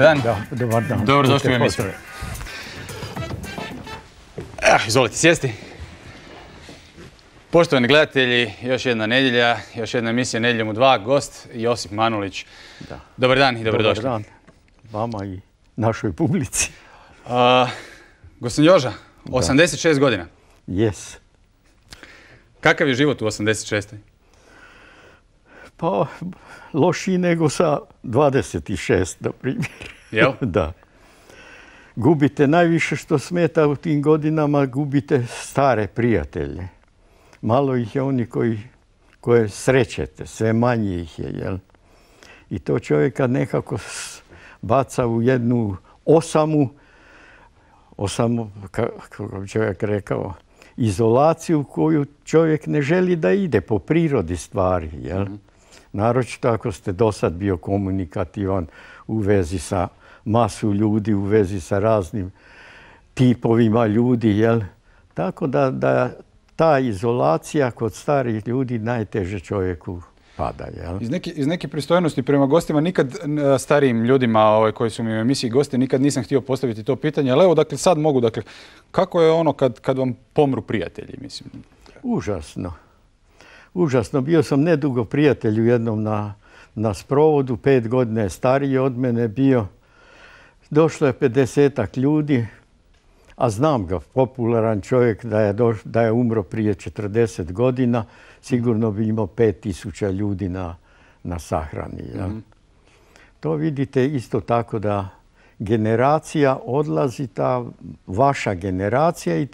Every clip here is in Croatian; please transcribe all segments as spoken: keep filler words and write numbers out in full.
Dobar dan. Da, dobar dan. Dobro došli u emisiju. Eh, izvolite sjesti. Poštovani gledatelji, još jedna nedjelja, još jedna emisija Nedjeljom u dva, gost Josip Manulić. Da. Dobar dan i dobrodošli. Dobar dan vama i našoj publici. Uh, Gospodin Joža, osamdeset šest godina. Jes. Kakav je život u osamdeset šestoj? Pa, lošiji nego sa dvadeset šest, na primjer. Jel? Da. Gubite najviše što smeta u tim godinama, gubite stare prijatelje. Malo ih je oni koji, koje srećete, sve manje ih je, jel? I to čovjeka nekako baca u jednu osamu, osamu, kako bi čovjek rekao, izolaciju koju čovjek ne želi da ide po prirodi stvari, jel? Mm-hmm. Naročito ako ste dosad bio komunikativan u vezi sa masu ljudi, u vezi sa raznim tipovima ljudi, jel? Tako da, da ta izolacija kod starih ljudi najteže čovjeku pada, jel? Iz neke, iz neke pristojnosti prema gostima, nikad starijim ljudima ovaj, koji su mi u emisiji gosti, nikad nisam htio postaviti to pitanje, ali evo, dakle, sad mogu, dakle, kako je ono kad, kad vam pomru prijatelji, mislim? Užasno. Užasno. Bio sam nedugo prijatelju jednom na, na sprovodu, pet godina je stariji od mene bio. Došlo je pedesetak ljudi, a znam ga, popularan čovjek, da je, doš, da je umro prije četrdeset godina, sigurno bi imao pet tisuća ljudi na, na sahrani. Ja? Mm-hmm. To vidite isto tako da generacija odlazi, ta vaša generacija, i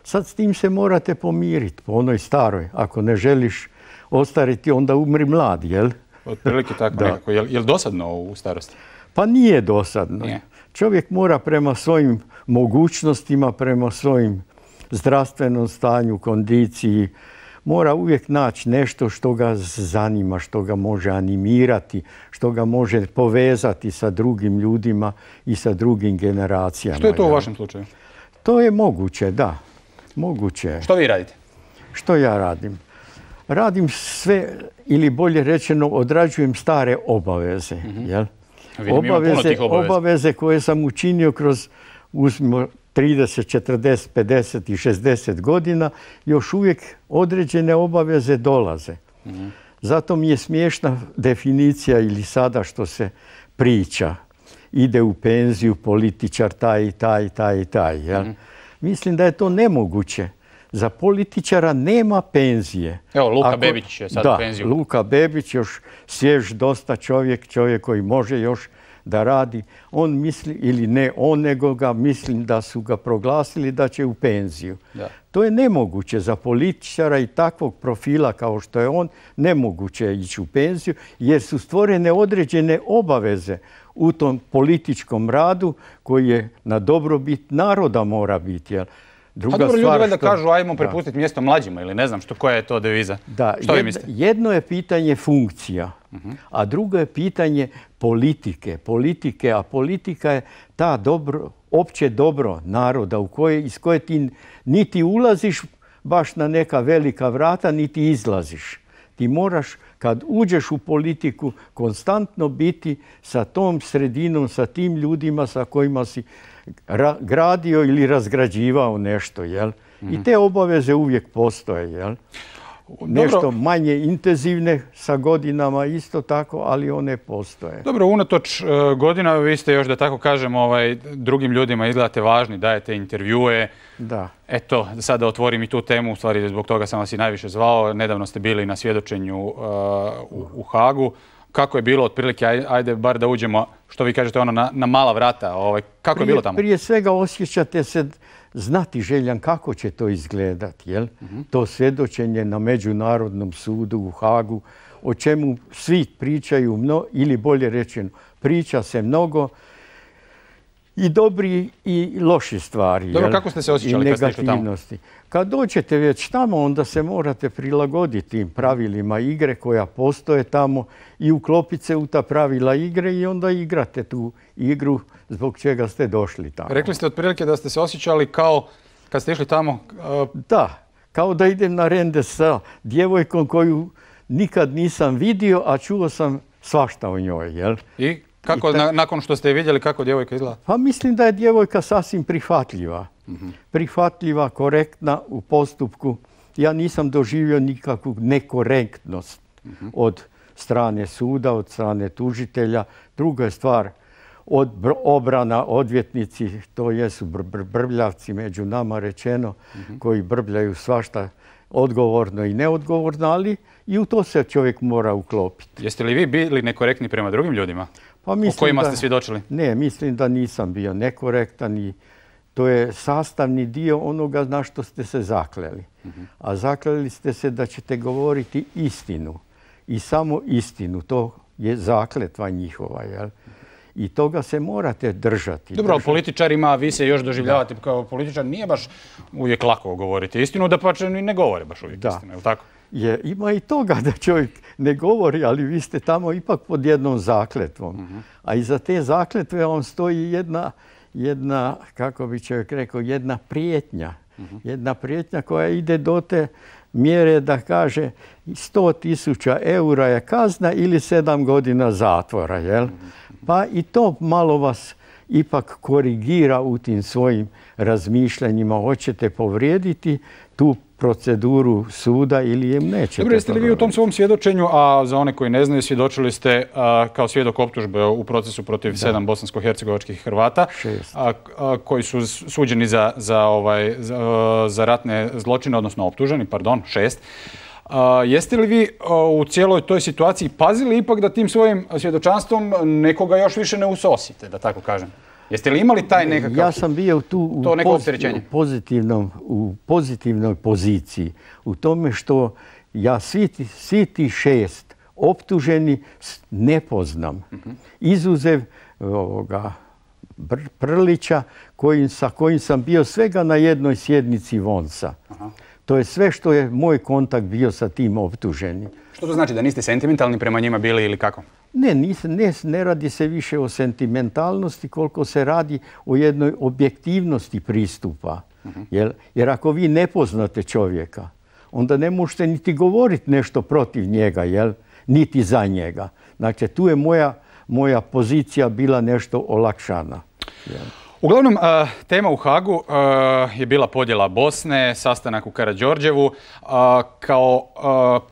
sad s tim se morate pomiriti po onoj staroj. Ako ne želiš ostariti, onda umri mlad, jel? Otprilike tako nekako. Je li dosadno u starosti? Pa nije dosadno. Nije. Čovjek mora prema svojim mogućnostima, prema svojim zdravstvenom stanju, kondiciji, mora uvijek naći nešto što ga zanima, što ga može animirati, što ga može povezati sa drugim ljudima i sa drugim generacijama. Što je to u vašem slučaju? To je moguće, da. Moguće. Što vi radite? Što ja radim? Radim sve, ili bolje rečeno, odrađujem stare obaveze. Mm-hmm. Jel? Vidim, obaveze, obaveze koje sam učinio kroz, uzmimo, trideset, četrdeset, pedeset i šezdeset godina, još uvijek određene obaveze dolaze. Mm-hmm. Zato mi je smiješna definicija ili sada što se priča. Ide u penziju političar taj i taj i taj i taj. Jel? Mm-hmm. Mislim da je to nemoguće. Za političara nema penzije. Evo, Luka Ako, Bebić je sad da, u penziju. Luka Bebić, još svjež dosta čovjek, čovjek koji može još da radi. On misli, ili ne on, nego ga mislim da su ga proglasili da će u penziju. Da. To je nemoguće za političara i takvog profila kao što je on, nemoguće ići u penziju, jer su stvorene određene obaveze u tom političkom radu koji je na dobrobit naroda mora biti. Jel? Druga pa dobro, ljudi valjda što... kažu ajmo prepustiti mjesto mlađima ili ne znam što, koja je to deviza. Da, što jed, vi mislite? Jedno je pitanje funkcija, uh-huh. a drugo je pitanje politike. Politike, a politika je ta dobro, opće dobro naroda u koje, iz koje ti niti ulaziš baš na neka velika vrata, niti izlaziš. Ti moraš, kad uđeš u politiku, konstantno biti sa tom sredinom, sa tim ljudima sa kojima si ra- gradio ili razgrađivao nešto, jel? Mm-hmm. I te obaveze uvijek postoje, jel? Dobro. Nešto manje intenzivne sa godinama isto tako, ali one postoje. Dobro, unatoč uh, godina vi ste još, da tako kažem, ovaj, drugim ljudima izgledate važni, dajete intervjue. Da. Eto, sad da otvorim i tu temu, u stvari zbog toga sam vas i najviše zvao. Nedavno ste bili na svjedočenju uh, u, u Hagu. Kako je bilo, otprilike, ajde bar da uđemo, što vi kažete, ono na, na mala vrata, ovaj, kako prije, je bilo tamo? Prije svega osjećate se znati željan kako će to izgledati, jel? Mm-hmm. To svjedočenje na Međunarodnom sudu u Hagu, o čemu svi pričaju, mno, ili bolje rečeno, priča se mnogo, i dobri i loši stvari. Dobro, jel? Kako ste se osjećali kad ste išli tamo? Kad dođete već tamo, onda se morate prilagoditi tim pravilima igre koja postoje tamo i uklopiti se u ta pravila igre i onda igrate tu igru zbog čega ste došli tamo. Rekli ste otprilike da ste se osjećali kao kad ste išli tamo... Uh... Da, kao da idem na rende sa djevojkom koju nikad nisam vidio, a čuo sam svašta o njoj, jel? I Kako, ta... nakon što ste je vidjeli, kako djevojka izgleda? Pa mislim da je djevojka sasvim prihvatljiva. Uh-huh. Prihvatljiva, korektna u postupku. Ja nisam doživio nikakvu nekorektnost uh-huh. od strane suda, od strane tužitelja. Druga je stvar, od obrana, odvjetnici, to jesu br- br- brbljavci među nama rečeno, uh-huh. koji brbljaju svašta odgovorno i neodgovorno, ali i u to se čovjek mora uklopiti. Jeste li vi bili nekorektni prema drugim ljudima? Pa o kojima da, ste svjedočili? Ne, mislim da nisam bio nekorektan i to je sastavni dio onoga na što ste se zakleli. Uh-huh. A zakleli ste se da ćete govoriti istinu i samo istinu. To je zakletva njihova, jel? I toga se morate držati. Dobro, ali političarima, vi se još doživljavate da. kao političar, nije baš uvijek lako govoriti istinu, da pa ne govore baš uvijek da. istinu, je li tako? Je, ima i toga da čovjek ne govori, ali vi ste tamo ipak pod jednom zakletvom. Uh-huh. A iza te zakletve on stoji jedna, jedna, kako bi čovjek rekao, jedna prijetnja. Uh-huh. Jedna prijetnja koja ide do te mjere da kaže sto tisuća eura je kazna ili sedam godina zatvora, jel? Uh-huh. Pa i to malo vas ipak korigira u tim svojim razmišljanjima. Hoćete povrijediti tu proceduru suda ili im nećete. Dobro, jeste li vi u tom svom svjedočenju, a za one koji ne znaju, svjedočili ste a, kao svjedok optužbe u procesu protiv da. sedam bosansko-hercegovačkih Hrvata, a, a, koji su suđeni za, za, ovaj, za, za ratne zločine, odnosno optuženi, pardon, šest. A, jeste li vi a, u cijeloj toj situaciji pazili ipak da tim svojim svjedočanstvom nekoga još više ne usosite, da tako kažem? Jeste li imali taj nekakav... Ja sam bio tu u, poz, u, pozitivnom, u pozitivnoj poziciji. U tome što ja svi, svi ti šest optuženi ne poznam. Uh-huh. Izuzev ovoga Br- Prlića kojim, sa kojim sam bio svega na jednoj sjednici Vonsa. Uh-huh. To je sve što je moj kontakt bio sa tim optuženim. Što to znači? Da niste sentimentalni prema njima bili ili kako? Ne, ne, ne radi se više o sentimentalnosti koliko se radi o jednoj objektivnosti pristupa. Uh-huh. Jer, jer ako vi ne poznate čovjeka, onda ne možete niti govoriti nešto protiv njega, jel? Niti za njega. Znači, tu je moja, moja pozicija bila nešto olakšana. Jel? Uglavnom, tema u Hagu je bila podjela Bosne, sastanak u Karađorđevu, kao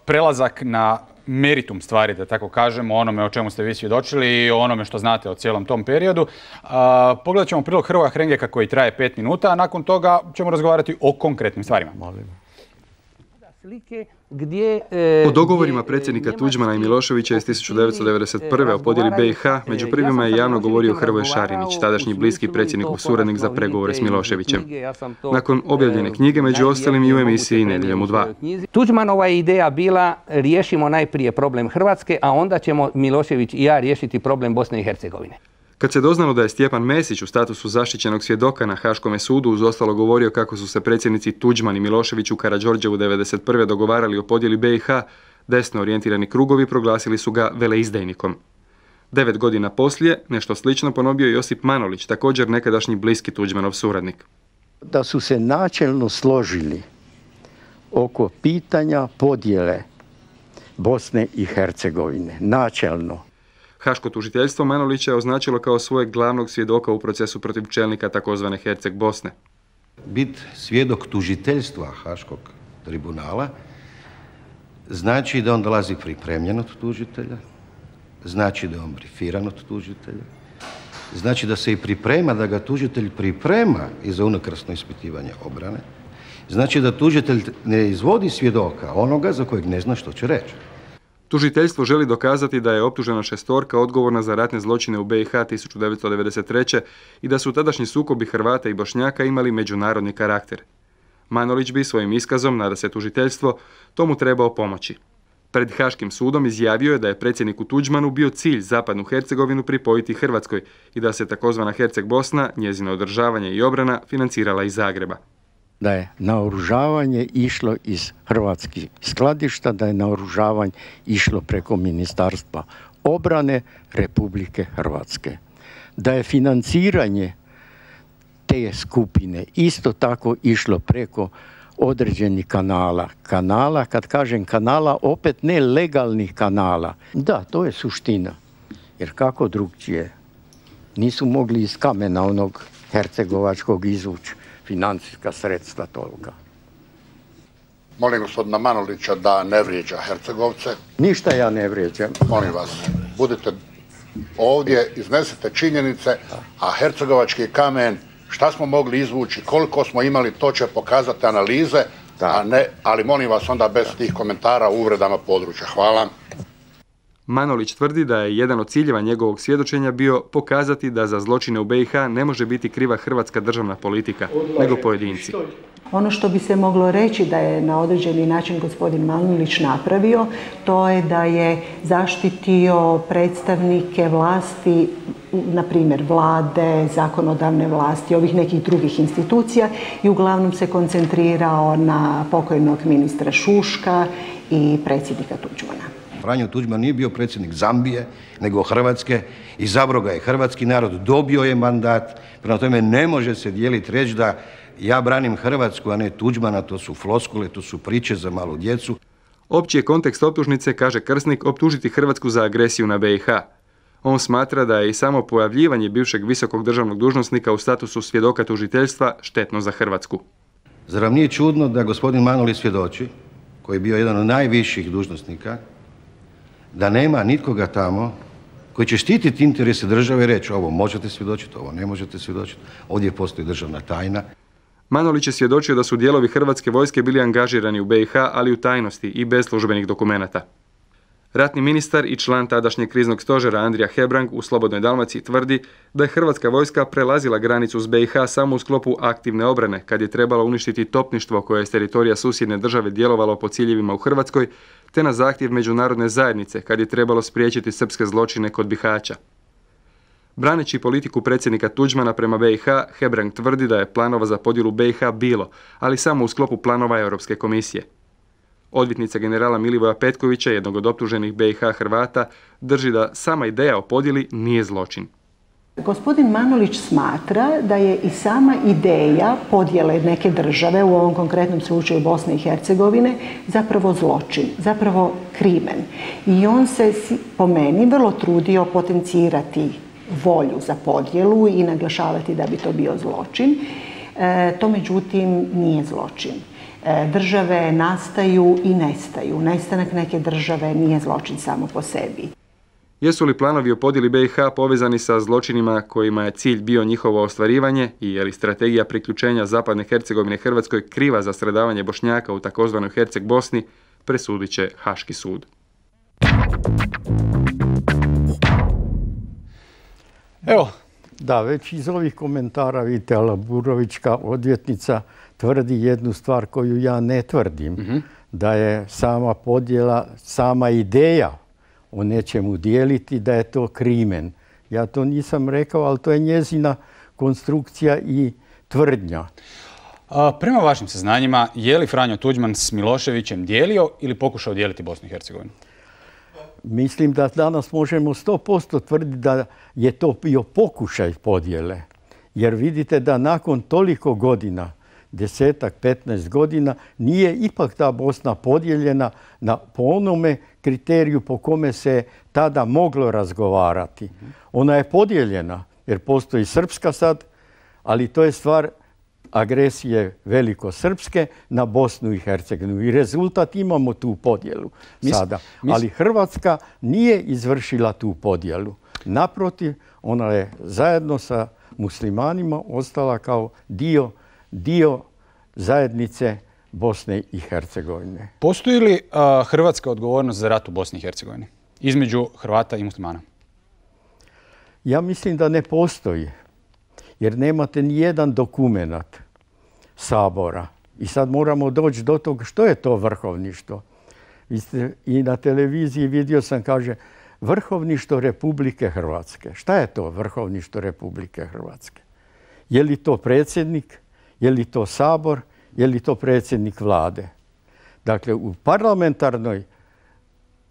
prelazak na meritum stvari, da tako kažemo, onome o čemu ste vi svjedočili i o onome što znate o cijelom tom periodu. Pogledat ćemo prilog Hrvoja Hrengeka koji traje pet minuta, a nakon toga ćemo razgovarati o konkretnim stvarima. Gdje, e, o dogovorima predsjednika Tuđmana i Miloševića iz tisuću devetsto devedeset prve o podjeli B i H među prvima je javno govorio Hrvoje Šarinić, tadašnji bliski predsjednikov suradnik za pregovore s Miloševićem. Nakon objavljene knjige, među ostalim i u emisiji Nedjeljom u dva. Tuđmanova je ideja bila riješimo najprije problem Hrvatske, a onda ćemo Milošević i ja riješiti problem Bosne i Hercegovine. Kad se doznalo da je Stjepan Mesić u statusu zaštićenog svjedoka na Haškome sudu uz ostalo govorio kako su se predsjednici Tuđman i Milošević u Karađorđevu devedeset prve dogovarali o podjeli B i H, desno orijentirani krugovi proglasili su ga veleizdajnikom. Devet godina poslije, nešto slično ponovio Josip Manolić, također nekadašnji bliski Tuđmanov suradnik. Da su se načelno složili oko pitanja podjele Bosne i Hercegovine, načelno. Haško tužiteljstvo Manolića je označilo kao svojeg glavnog svjedoka u procesu protiv čelnika takozvane Herceg Bosne. Bit svjedok tužiteljstva Haškog tribunala znači da on dolazi pripremljen od tužitelja, znači da je on brifiran od tužitelja, znači da se i priprema, da ga tužitelj priprema i za unakrasno ispitivanje obrane, znači da tužitelj ne izvodi svjedoka onoga za kojeg ne zna što će reći. Tužiteljstvo želi dokazati da je optužena šestorka odgovorna za ratne zločine u B i H tisuću devetsto devedeset treće i da su tadašnji sukobi Hrvata i Bošnjaka imali međunarodni karakter. Manolić bi svojim iskazom, nada se tužiteljstvo, tomu trebao pomoći. Pred Haškim sudom izjavio je da je predsjedniku Tuđmanu bio cilj zapadnu Hercegovinu pripojiti Hrvatskoj i da se takozvana Herceg Bosna, njezino održavanje i obrana, financirala iz Zagreba. Da je naoružavanje išlo iz hrvatskih skladišta, da je naoružavanje išlo preko Ministarstva obrane Republike Hrvatske. Da je financiranje te skupine isto tako išlo preko određenih kanala. Kanala, kad kažem kanala, opet ne legalnih kanala. Da, to je suština. Jer kako drugčije? Nisu mogli iz kamena onog hercegovačkog izvući financijska sredstva tolika. Molim gospodina Manolića da ne vrijeđa Hercegovce. Ništa ja ne vrijeđam. Molim vas, budite ovdje, iznesete činjenice, a hercegovački kamen, šta smo mogli izvući, koliko smo imali, to će pokazati analize, a ne, ali molim vas onda bez tih komentara o uvredama područja. Hvala. Manolić tvrdi da je jedan od ciljeva njegovog svjedočenja bio pokazati da za zločine u be i ha ne može biti kriva hrvatska državna politika, nego pojedinci. Ono što bi se moglo reći da je na određeni način gospodin Manolić napravio, to je da je zaštitio predstavnike vlasti, na primjer vlade, zakonodavne vlasti, ovih nekih drugih institucija i uglavnom se koncentrirao na pokojnog ministra Šuška i predsjednika Tuđmana. Franjo Tuđman nije bio predsjednik Zambije, nego Hrvatske. Izabrao ga je hrvatski narod, dobio je mandat. Prema tome ne može se dijeliti reći da ja branim Hrvatsku, a ne Tuđmana, to su floskule, to su priče za malu djecu. Opći je kontekst optužnice, kaže Krsnik, optužiti Hrvatsku za agresiju na be i ha. On smatra da je i samo pojavljivanje bivšeg visokog državnog dužnosnika u statusu svjedoka tužiteljstva štetno za Hrvatsku. Zar vam nije čudno da gospodin Manolić svjedoči, koji je bio jedan od najviših dužnosnika, da nema nitkoga tamo koji će štititi interese države i reći ovo možete svjedočiti, ovo ne možete svjedočiti, ovdje postoji državna tajna. Manolić je svjedočio da su dijelovi hrvatske vojske bili angažirani u be i ha, ali u tajnosti i bez službenih dokumenata. Ratni ministar i član tadašnjeg kriznog stožera Andrija Hebrang u Slobodnoj Dalmaciji tvrdi da je hrvatska vojska prelazila granicu s be i ha samo u sklopu aktivne obrane, kad je trebalo uništiti topništvo koje je s teritorija susjedne države djelovalo po ciljevima u Hrvatskoj, te na zahtjev međunarodne zajednice, kad je trebalo spriječiti srpske zločine kod Bihaća. Braneći politiku predsjednika Tuđmana prema be i ha, Hebrang tvrdi da je planova za podjelu be i ha bilo, ali samo u sklopu planova Europske komisije. Odvjetnica generala Milivoja Petkovića, jednog od optuženih be i ha Hrvata, drži da sama ideja o podjeli nije zločin. Gospodin Manolić smatra da je i sama ideja podjele neke države, u ovom konkretnom slučaju Bosne i Hercegovine, zapravo zločin, zapravo krimen. I on se, po meni, vrlo trudio potencirati volju za podjelu i naglašavati da bi to bio zločin. E, to međutim nije zločin. E, države nastaju i nestaju. Nestanak neke države nije zločin samo po sebi. Jesu li planovi o podjeli be i ha povezani sa zločinima kojima je cilj bio njihovo ostvarivanje i je li strategija priključenja Zapadne Hercegovine Hrvatskoj kriva za stradavanje Bošnjaka u takozvanoj Herceg Bosni, presudit će Haški sud. Evo, da, već iz ovih komentara vidite, Alaburovićka odvjetnica tvrdi jednu stvar koju ja ne tvrdim, mm-hmm. da je sama podjela, sama ideja o nečemu dijeliti, da je to krimen. Ja to nisam rekao, ali to je njezina konstrukcija i tvrdnja. A, prema vašim saznanjima, je li Franjo Tuđman s Miloševićem dijelio ili pokušao dijeliti Bosnu i Hercegovinu? Mislim da danas možemo sto posto tvrditi da je to bio pokušaj podjele. Jer vidite da nakon toliko godina, desetak, petnaest godina, nije ipak ta Bosna podijeljena na, po onome kriteriju po kome se tada moglo razgovarati. Ona je podijeljena jer postoji srpska sad, ali to je stvar agresije velikosrpske na Bosnu i Hercegovinu. I rezultat imamo tu podjelu sada. Ali Hrvatska nije izvršila tu podjelu. Naprotiv, ona je zajedno sa muslimanima ostala kao dio, dio zajednice Bosne i Hercegovine. Postoji li uh, hrvatska odgovornost za rat u Bosni i Hercegovini između Hrvata i muslimana? Ja mislim da ne postoji. Jer nemate ni jedan dokumenat Sabora. I sad moramo doći do toga što je to vrhovništvo. I na televiziji vidio sam, kaže, vrhovništvo Republike Hrvatske. Šta je to vrhovništvo Republike Hrvatske? Je li to predsjednik? Je li to Sabor? Je li to predsjednik vlade? Dakle, u parlamentarnoj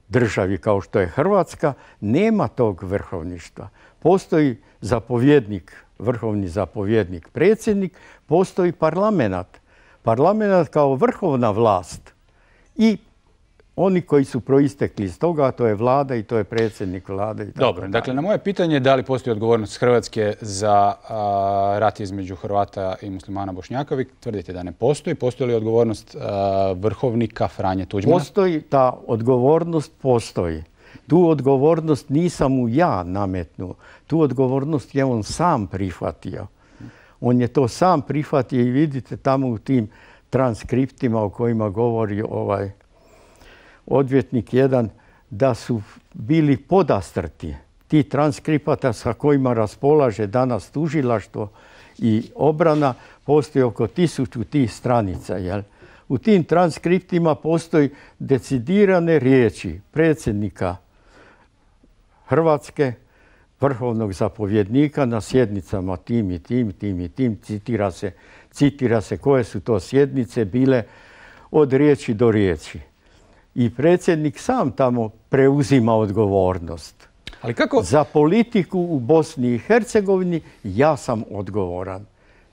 državi kao što je Hrvatska nema tog vrhovništva. Postoji zapovjednik, vrhovni zapovjednik, predsjednik, postoji parlamenat. Parlamenat kao vrhovna vlast i oni koji su proistekli iz toga, to je vlada i to je predsjednik vlade. I tako Dobro, dakle, na moje pitanje da li postoji odgovornost Hrvatske za a, rat između Hrvata i muslimana Bošnjaka, vi tvrdite da ne postoji. Postoji li odgovornost a, vrhovnika Franje Tuđmana? Postoji, ta odgovornost postoji. Tu odgovornost nisam mu ja nametnuo. Tu odgovornost je on sam prihvatio. On je to sam prihvatio i vidite tamo u tim transkriptima o kojima govori ovaj odvjetnik jedan, da su bili podastrti ti transkripata sa kojima raspolaže danas tužilaštvo i obrana, postoji oko tisuću tih stranica. Jel? U tim transkriptima postoji decidirane riječi predsjednika Hrvatske, vrhovnog zapovjednika na sjednicama tim i tim, tim i tim, citira se, citira se koje su to sjednice bile od riječi do riječi. I predsjednik sam tamo preuzima odgovornost. Ali kako? Za politiku u Bosni i Hercegovini ja sam odgovoran.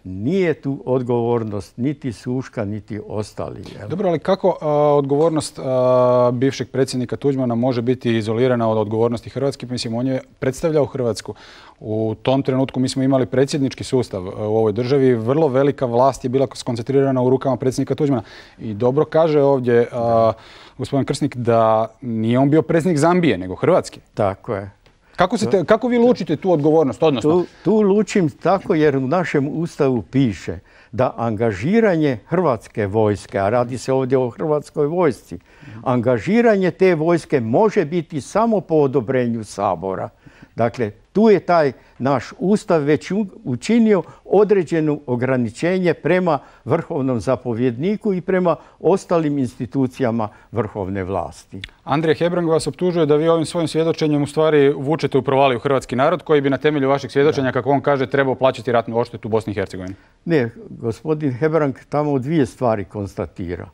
Nije tu odgovornost niti Suška, niti ostali. Jel? Dobro, ali kako a, odgovornost a, bivšeg predsjednika Tuđmana može biti izolirana od odgovornosti Hrvatske? Mislim, on je predstavljao Hrvatsku. U tom trenutku mi smo imali predsjednički sustav u ovoj državi. Vrlo velika vlast je bila skoncentrirana u rukama predsjednika Tuđmana. I dobro kaže ovdje a, gospodin Krsnik da nije on bio predsjednik Zambije, nego Hrvatske. Tako je. Kako, se te, kako vi lučite tu odgovornost? Odnosno? Tu, tu lučim tako jer u našem ustavu piše da angažiranje hrvatske vojske, a radi se ovdje o hrvatskoj vojsci, angažiranje te vojske može biti samo po odobrenju Sabora. Dakle, tu je taj naš ustav već učinio određeno ograničenje prema vrhovnom zapovjedniku i prema ostalim institucijama vrhovne vlasti. Andrija Hebrang vas optužuje da vi ovim svojim svjedočenjem u stvari vučete u provaliju hrvatski narod koji bi na temelju vašeg svjedočenja, kako on kaže, trebao plaćati ratnu odštetu u Bosni i Hercegovini. Ne, gospodin Hebrang tamo dvije stvari konstatira.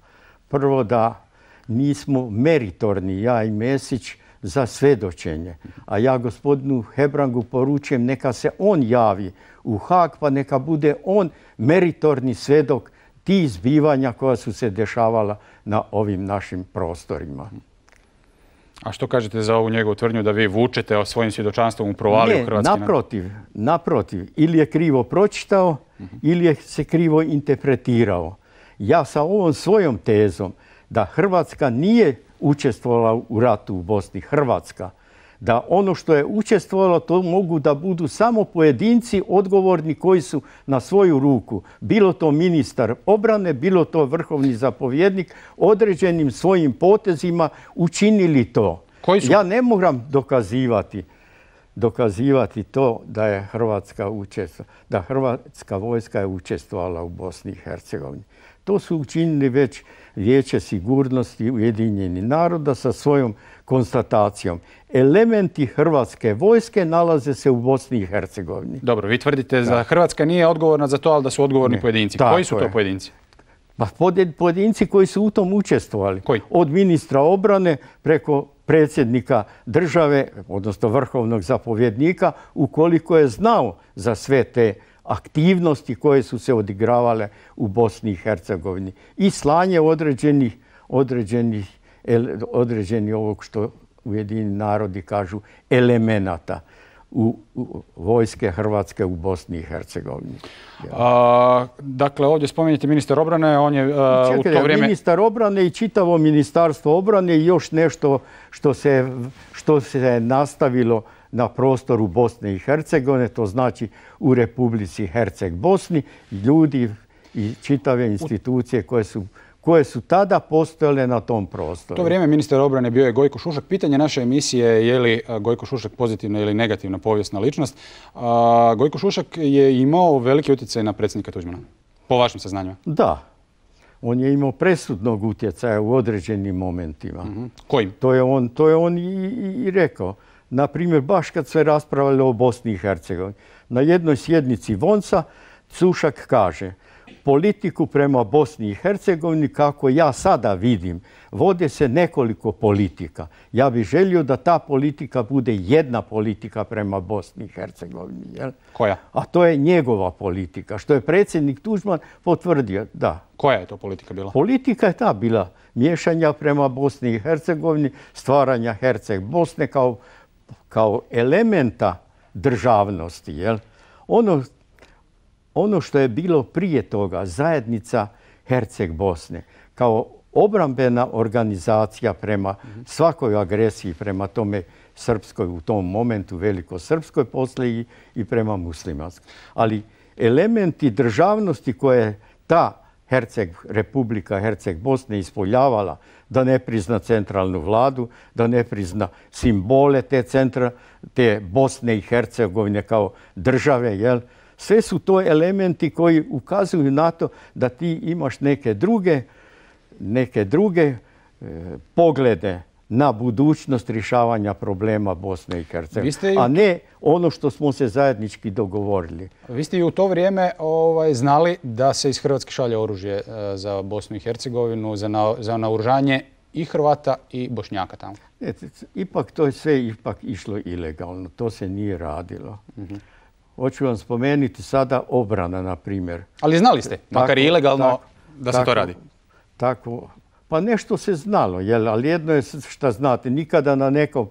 Prvo da nismo meritorni, ja i Mesić, za svjedočenje. A ja gospodinu Hebrangu poručujem neka se on javi u Haag pa neka bude on meritorni svjedok tih zbivanja koja su se dešavala na ovim našim prostorima. A što kažete za ovu njegovu tvrdnju da vi vučete o svojim svjedočanstvom u provaliju ne, hrvatski narod? naprotiv, naprotiv. Ili je krivo pročitao, uh-huh. ili je se krivo interpretirao. Ja sa ovom svojom tezom da Hrvatska nije učestvovala u ratu u Bosni, Hrvatska, da ono što je učestvovalo to mogu da budu samo pojedinci odgovorni koji su na svoju ruku, bilo to ministar obrane, bilo to vrhovni zapovjednik, određenim svojim potezima učinili to. Koji su? Ja ne moram dokazivati, dokazivati to da je Hrvatska učestvovala, da Hrvatska vojska je učestvovala u Bosni i Hercegovini. To su učinili već Vijeće sigurnosti Ujedinjenih naroda sa svojom konstatacijom. Elementi hrvatske vojske nalaze se u Bosni i Hercegovini. Dobro, vi tvrdite da Hrvatska nije odgovorna za to, ali da su odgovorni ne. pojedinci. Tako koji su to je. pojedinci? Pa pojedinci koji su u tom učestvovali. Koji? Od ministra obrane preko predsjednika države, odnosno vrhovnog zapovjednika, ukoliko je znao za sve te aktivnosti koje su se odigravale u Bosni i Hercegovini i slanje određenih, određenih, određenih ovog što Ujedinjeni narodi kažu elemenata u, u vojske Hrvatske u Bosni i Hercegovini. A, dakle, ovdje spominjete ministar obrane, on je a, Čekaj, u to vrijeme... Ministar obrane i čitavo ministarstvo obrane i još nešto što se, što se nastavilo na prostoru Bosne i Hercegovine, to znači u Republici Herceg-Bosni, ljudi i čitave institucije koje su, koje su tada postojale na tom prostoru. U to vrijeme ministar obrane bio je Gojko Šušak. Pitanje naše emisije je je li Gojko Šušak pozitivna ili negativna povijesna ličnost. A, Gojko Šušak je imao veliki utjecaj na predsjednika Tuđmana, po vašim saznanjima. Da. On je imao presudnog utjecaja u određenim momentima. Mm-hmm. Kojim? To je on, to je on i, i, i rekao. Na primjer, baš kad se raspravljalo o Bosni i Hercegovini. Na jednoj sjednici Vonca Šušak kaže politiku prema Bosni i Hercegovini, kako ja sada vidim, vode se nekoliko politika. Ja bih želio da ta politika bude jedna politika prema Bosni i Hercegovini. Jel? Koja? A to je njegova politika, što je predsjednik Tuđman potvrdio, da. Koja je to politika bila? Politika je ta bila miješanja prema Bosni i Hercegovini, stvaranja Herceg Bosne kao, kao elementa državnosti. Jel? Ono Ono što je bilo prije toga, zajednica Herceg Bosne, kao obrambena organizacija prema svakoj agresiji, prema tome srpskoj u tom momentu, velikosrpskoj poslije i prema muslimanskoj. Ali elementi državnosti koje ta Herceg, Republika Herceg Bosne ispoljavala, da ne prizna centralnu vladu, da ne prizna simbole te centra, te Bosne i Hercegovine kao države, jel? Sve su to elementi koji ukazuju na to da ti imaš neke druge, neke druge e, poglede na budućnost rješavanja problema Bosne i Hercegovine, a ne ono što smo se zajednički dogovorili. Vi ste i u to vrijeme ovaj, znali da se iz Hrvatske šalje oružje e, za Bosnu i Hercegovinu, za, na, za naoružanje i Hrvata i Bošnjaka tamo. E, ipak to je sve ipak išlo ilegalno, to se nije radilo. Mm-hmm. Hoću vam spomenuti sada obrana, na primjer. Ali znali ste, makar i ilegalno, tako, da se tako, to radi? Tako, pa nešto se znalo, jel? Ali jedno je šta znate, nikada na nekom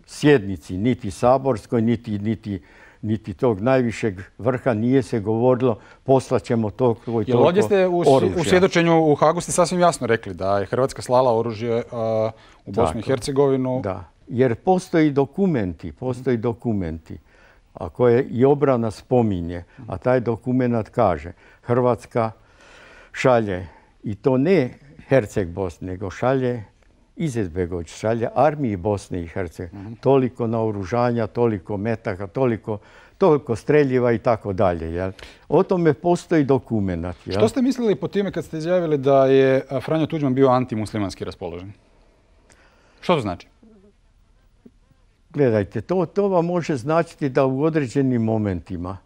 sjednici, niti saborskoj, niti, niti, niti tog najvišeg vrha nije se govorilo poslaćemo to i toliko Jel ovdje ste u, u svjedočenju u Hagu ste sasvim jasno rekli da je Hrvatska slala oružje uh, u Bosnu i Hercegovinu? Da, jer postoji dokumenti, postoji dokumenti. A koje i obrana spominje, a taj dokument kaže Hrvatska šalje, i to ne Herceg Bosne, nego šalje Izetbegović, šalje armiji Bosne i Hercegovine. Mm-hmm. Toliko naoružanja, toliko metaka, toliko, toliko streljiva i tako dalje. O tome postoji dokument. Jel? Što ste mislili po time kad ste izjavili da je Franjo Tuđman bio antimuslimanski raspoložen? Što to znači? Gledajte, to, to vam može značiti da u određenim momentima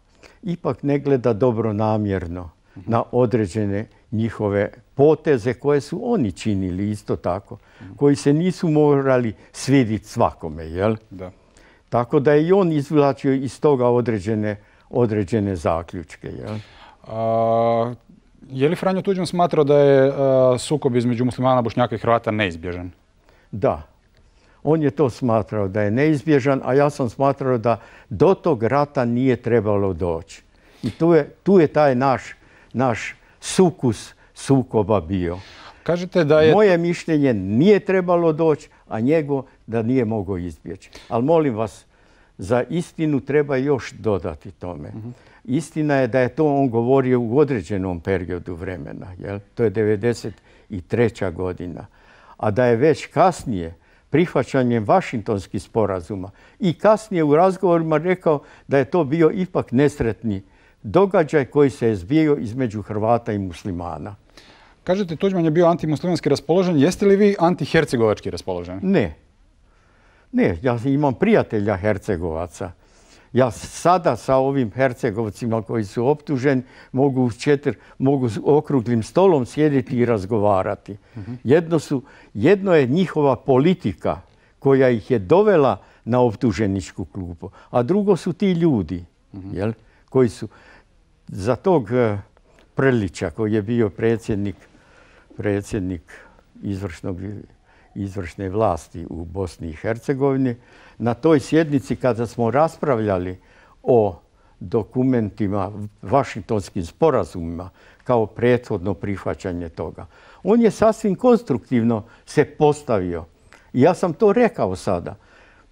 ipak ne gleda dobro namjerno na određene njihove poteze koje su oni činili isto tako, koji se nisu morali svidjeti svakome, jel? Da. Tako da je i on izvlačio iz toga određene, određene zaključke, jel? A, je li Franjo Tuđman smatrao da je a, sukob između muslimana, Bošnjaka i Hrvata neizbježan? Da. On je to smatrao da je neizbježan, a ja sam smatrao da do tog rata nije trebalo doći. I tu je, tu je taj naš, naš sukus sukoba bio. Kažete da je... Moje mišljenje nije trebalo doći, a njegov da nije mogao izbjeći. Ali molim vas, za istinu treba još dodati tome. Mm-hmm. Istina je da je to on govorio u određenom periodu vremena. Jel? To je devedeset treća godina. A da je već kasnije, prihvaćanjem Vašingtonskih sporazuma i kasnije u razgovorima rekao da je to bio ipak nesretni događaj koji se je zbio između Hrvata i muslimana. Kažete, Tuđman je bio antimuslimanski raspoložen. Jeste li vi antihercegovački raspoložen? Ne. Ne, ja imam prijatelja Hercegovaca. Ja sada sa ovim Hercegovcima koji su optuženi mogu, četiri, mogu okruglim stolom sjediti i razgovarati. Uh-huh. Jedno, su, jedno je njihova politika koja ih je dovela na optuženičku klupu, a drugo su ti ljudi, uh-huh. jel, koji su za tog uh, Prlića koji je bio predsjednik, predsjednik izvršnog, izvršne vlasti u Bosni i Hercegovini. Na toj sjednici kada smo raspravljali o dokumentima, Vašingtonskim sporazumima kao prethodno prihvaćanje toga, on je sasvim konstruktivno se postavio. I ja sam to rekao sada.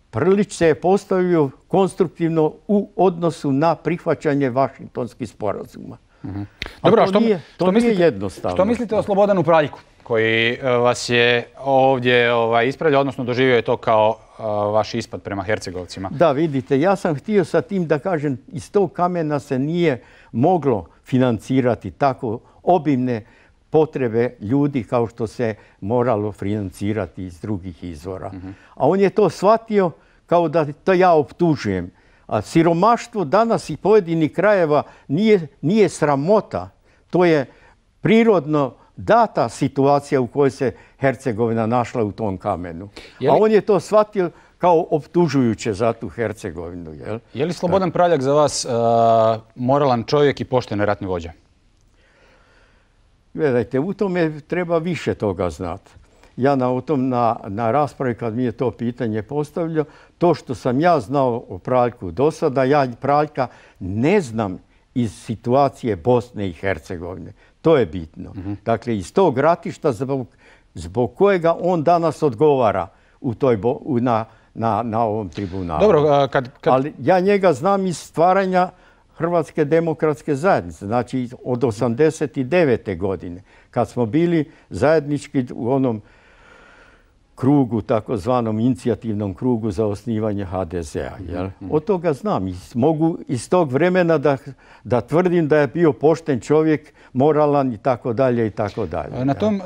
Prlić se je postavio konstruktivno u odnosu na prihvaćanje Vašingtonskih sporazuma. Mm-hmm. Dobro, a to što, nije, to što, nije mislite, jednostavno. što mislite o Slobodanu Praljku koji vas je ovdje ovaj, ispravljao, odnosno doživio je to kao uh, vaš ispad prema Hercegovcima? Da, vidite, ja sam htio sa tim da kažem, iz tog kamena se nije moglo financirati tako obimne potrebe ljudi kao što se moralo financirati iz drugih izvora. Mm-hmm. A on je to shvatio kao da to ja optužujem. A siromaštvo danas i pojedinih krajeva nije, nije sramota. To je prirodno data situacija u kojoj se Hercegovina našla u tom kamenu. A on je to shvatio kao optužujuće za tu Hercegovinu. Jel? Je li Slobodan Praljak za vas uh, moralan čovjek i pošten ratni vođa? Gledajte, u tome treba više toga znati. Ja na, u tom, na, na raspravi kad mi je to pitanje postavljao, to što sam ja znao o Praljku do sada, ja Praljka ne znam iz situacije Bosne i Hercegovine. To je bitno. Mm-hmm. Dakle, iz tog ratišta zbog, zbog kojega on danas odgovara u toj bo, u, na, na, na ovom tribunalu. Dobro, kad, kad... Ali ja njega znam iz stvaranja Hrvatske demokratske zajednice, znači od osamdeset devete godine, kad smo bili zajednički u onom krugu, takozvanom inicijativnom krugu za osnivanje ha de zea. Jel? Od toga znam. I mogu iz tog vremena da, da tvrdim da je bio pošten čovjek, moralan i tako dalje i tako dalje. Na tom uh,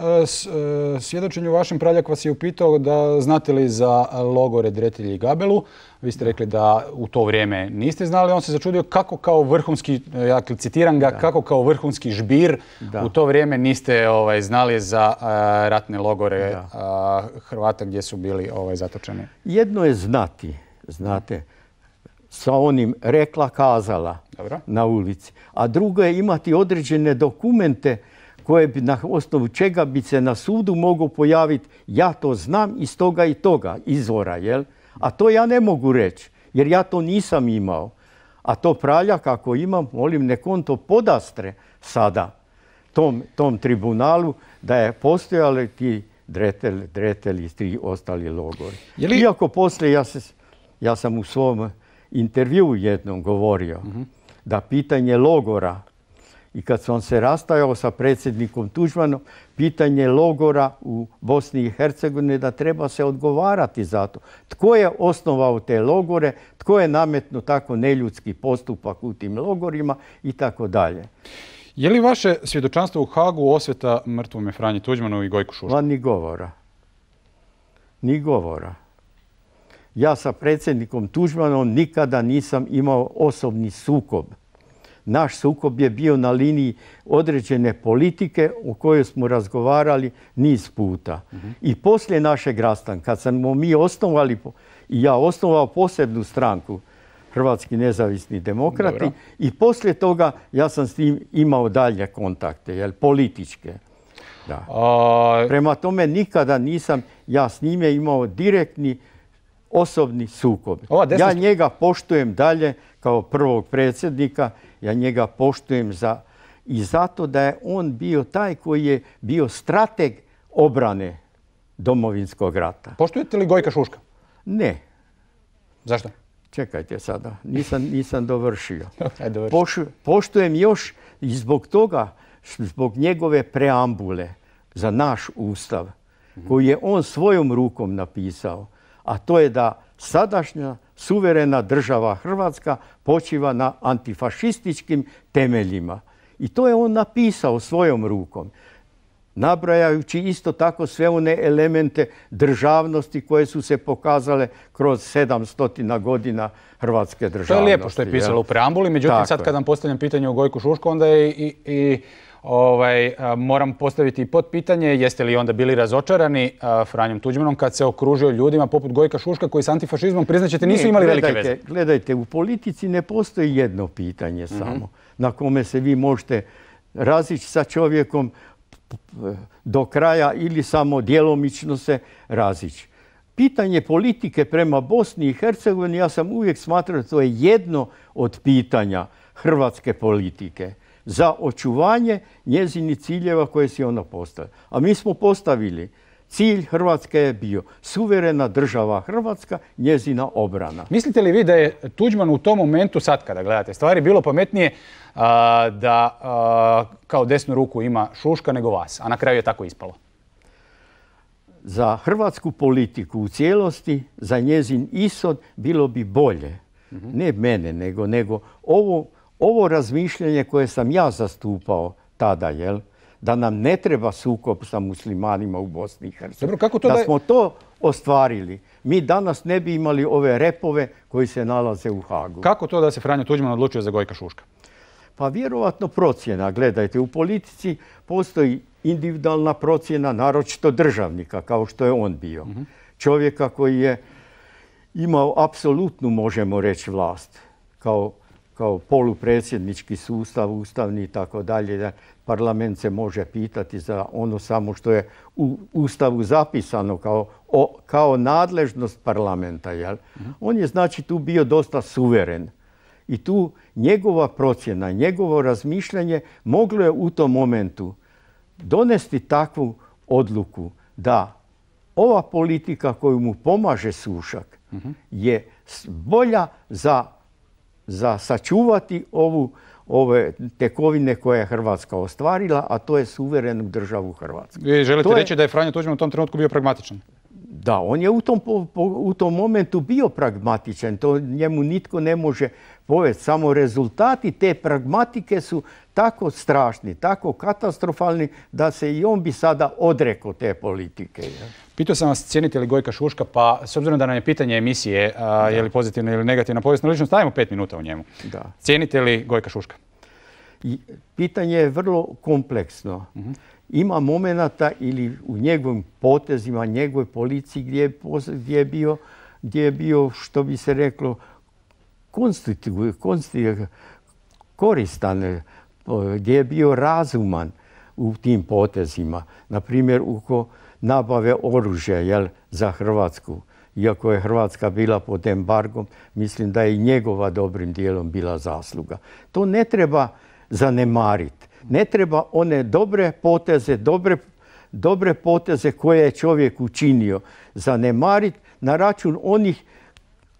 svjedočenju vašem Praljak vas je upitao da znate li za logore Dretelj i Gabelu. Vi ste rekli da u to vrijeme niste znali. On se začudio kako kao vrhunski, ja citiram ga, da. kako kao vrhunski žbir da. u to vrijeme niste ovaj, znali za uh, ratne logore uh, Hrvata gdje su bili ovaj, zatočeni. Jedno je znati, znate, sa onim rekla, kazala Dobro. na ulici. A drugo je imati određene dokumente koje bi na osnovu čega bi se na sudu mogao pojaviti. Ja to znam iz toga i toga izvora, jel? A to ja ne mogu reći, jer ja to nisam imao. A to Praljak, ako imam, molim, nek on to podastre sada tom, tom tribunalu da je postojali ti Dretelj, Dretelj i tri ostali logori. Li... Iako poslije, ja, se, ja sam u svom intervjuu jednom govorio uh-huh. da pitanje logora, i kad sam se rastajao sa predsjednikom Tuđmanom, pitanje logora u Bosni i Hercegovini da treba se odgovarati za to. Tko je osnovao te logore, tko je nametnuo tako neljudski postupak u tim logorima i tako dalje. Je li vaše svjedočanstvo u Hagu osveta mrtvome Franji Tuđmanu i Gojku Šušku? Ma ni govora. Ni govora. Ja sa predsjednikom Tuđmanom nikada nisam imao osobni sukob. Naš sukob je bio na liniji određene politike o kojoj smo razgovarali niz puta. Uh-huh. I poslije našeg rastanka, kad smo mi osnovali, i ja osnovao posebnu stranku, Hrvatski nezavisni demokrati, Dobro. i poslije toga ja sam s njim imao dalje kontakte, jel, političke. Da. A... Prema tome nikada nisam ja s njime imao direktni osobni sukob. Desna... Ja njega poštujem dalje kao prvog predsjednika, ja njega poštujem za, i zato da je on bio taj koji je bio strateg obrane Domovinskog rata. Poštujete li Gojka Šuška? Ne. Zašto? Čekajte sada, nisam, nisam dovršio. Poš, poštujem još i zbog toga, zbog njegove preambule za naš ustav, mm-hmm. koji je on svojom rukom napisao, a to je da sadašnja suverena država Hrvatska počiva na antifašističkim temeljima. I to je on napisao svojom rukom, nabrajajući isto tako sve one elemente državnosti koje su se pokazale kroz sedamstotina godina hrvatske državnosti. To je lijepo što je pisalo u preambuli, međutim tako sad kad vam postavljam pitanje o Gojku Šušku, onda je i, i ovaj, moram postaviti i potpitanje, jeste li onda bili razočarani a, Franjom Tuđmanom kad se okružio ljudima poput Gojka Šuška koji s antifašizmom, priznaćete, nisu imali gledajte, velike veze? Gledajte, u politici ne postoji jedno pitanje samo mm-hmm. na kome se vi možete razići sa čovjekom do kraja ili samo djelomično se razići. Pitanje politike prema Bosni i Hercegovini, ja sam uvijek smatrao da to je jedno od pitanja hrvatske politike za očuvanje njezinih ciljeva koje si ona postavila. A mi smo postavili, cilj Hrvatske je bio suverena država Hrvatska, njezina obrana. Mislite li vi da je Tuđman u tom momentu, sad kada gledate stvari, bilo pametnije a, da a, kao desnu ruku ima Šuška nego vas, a na kraju je tako ispalo? Za hrvatsku politiku u cijelosti, za njezin ishod bilo bi bolje. Mm-hmm. Ne mene, nego, nego ovo, ovo razmišljanje koje sam ja zastupao tada, jel? Da nam ne treba sukob sa muslimanima u Bosni i Hercegovini. Da, da smo to ostvarili, mi danas ne bi imali ove repove koji se nalaze u Hagu. Kako to da se Franjo Tuđman odlučio za Gojka Šuška? Pa vjerovatno procjena. Gledajte, u politici postoji individualna procjena, naročito državnika, kao što je on bio. Mm-hmm. Čovjeka koji je imao apsolutnu, možemo reći, vlast. Kao, kao polupredsjednički sustav, ustavni i tako dalje. Parlament se može pitati za ono samo što je u Ustavu zapisano kao, o, kao nadležnost parlamenta. Jel? Mm-hmm. On je znači tu bio dosta suveren. I tu njegova procjena, njegovo razmišljanje moglo je u tom momentu donesti takvu odluku da ova politika koju mu pomaže Sušak mm-hmm. je bolja za, za sačuvati ovu, ove tekovine koje je Hrvatska ostvarila, a to je suverenu državu Hrvatsku. Vi želite to reći je... da je Franjo Tuđman u tom trenutku bio pragmatičan? Da, on je u tom, u tom momentu bio pragmatičan, to njemu nitko ne može povesti. Samo rezultati te pragmatike su tako strašni, tako katastrofalni da se i on bi sada odrekao te politike. Pitao sam vas cijenite li Gojka Šuška, pa s obzirom da nam je pitanje emisije a, je li pozitivna ili negativna povijesna ličnost, stavimo pet minuta u njemu. Da. Cijenite li Gojka Šuška? I pitanje je vrlo kompleksno. Uh-huh. Ima momenata ili u njegovim potezima, njegovoj policiji gdje je, gdje je, bio, gdje je bio, što bi se reklo, konstitu, konstitu, koristan, gdje je bio razuman u tim potezima. Naprimjer, oko nabave oružja jel, za Hrvatsku. Iako je Hrvatska bila pod embargom, mislim da je i njegova dobrim dijelom bila zasluga. To ne treba zanemariti. Ne treba one dobre poteze, dobre, dobre poteze koje je čovjek učinio zanemariti na račun onih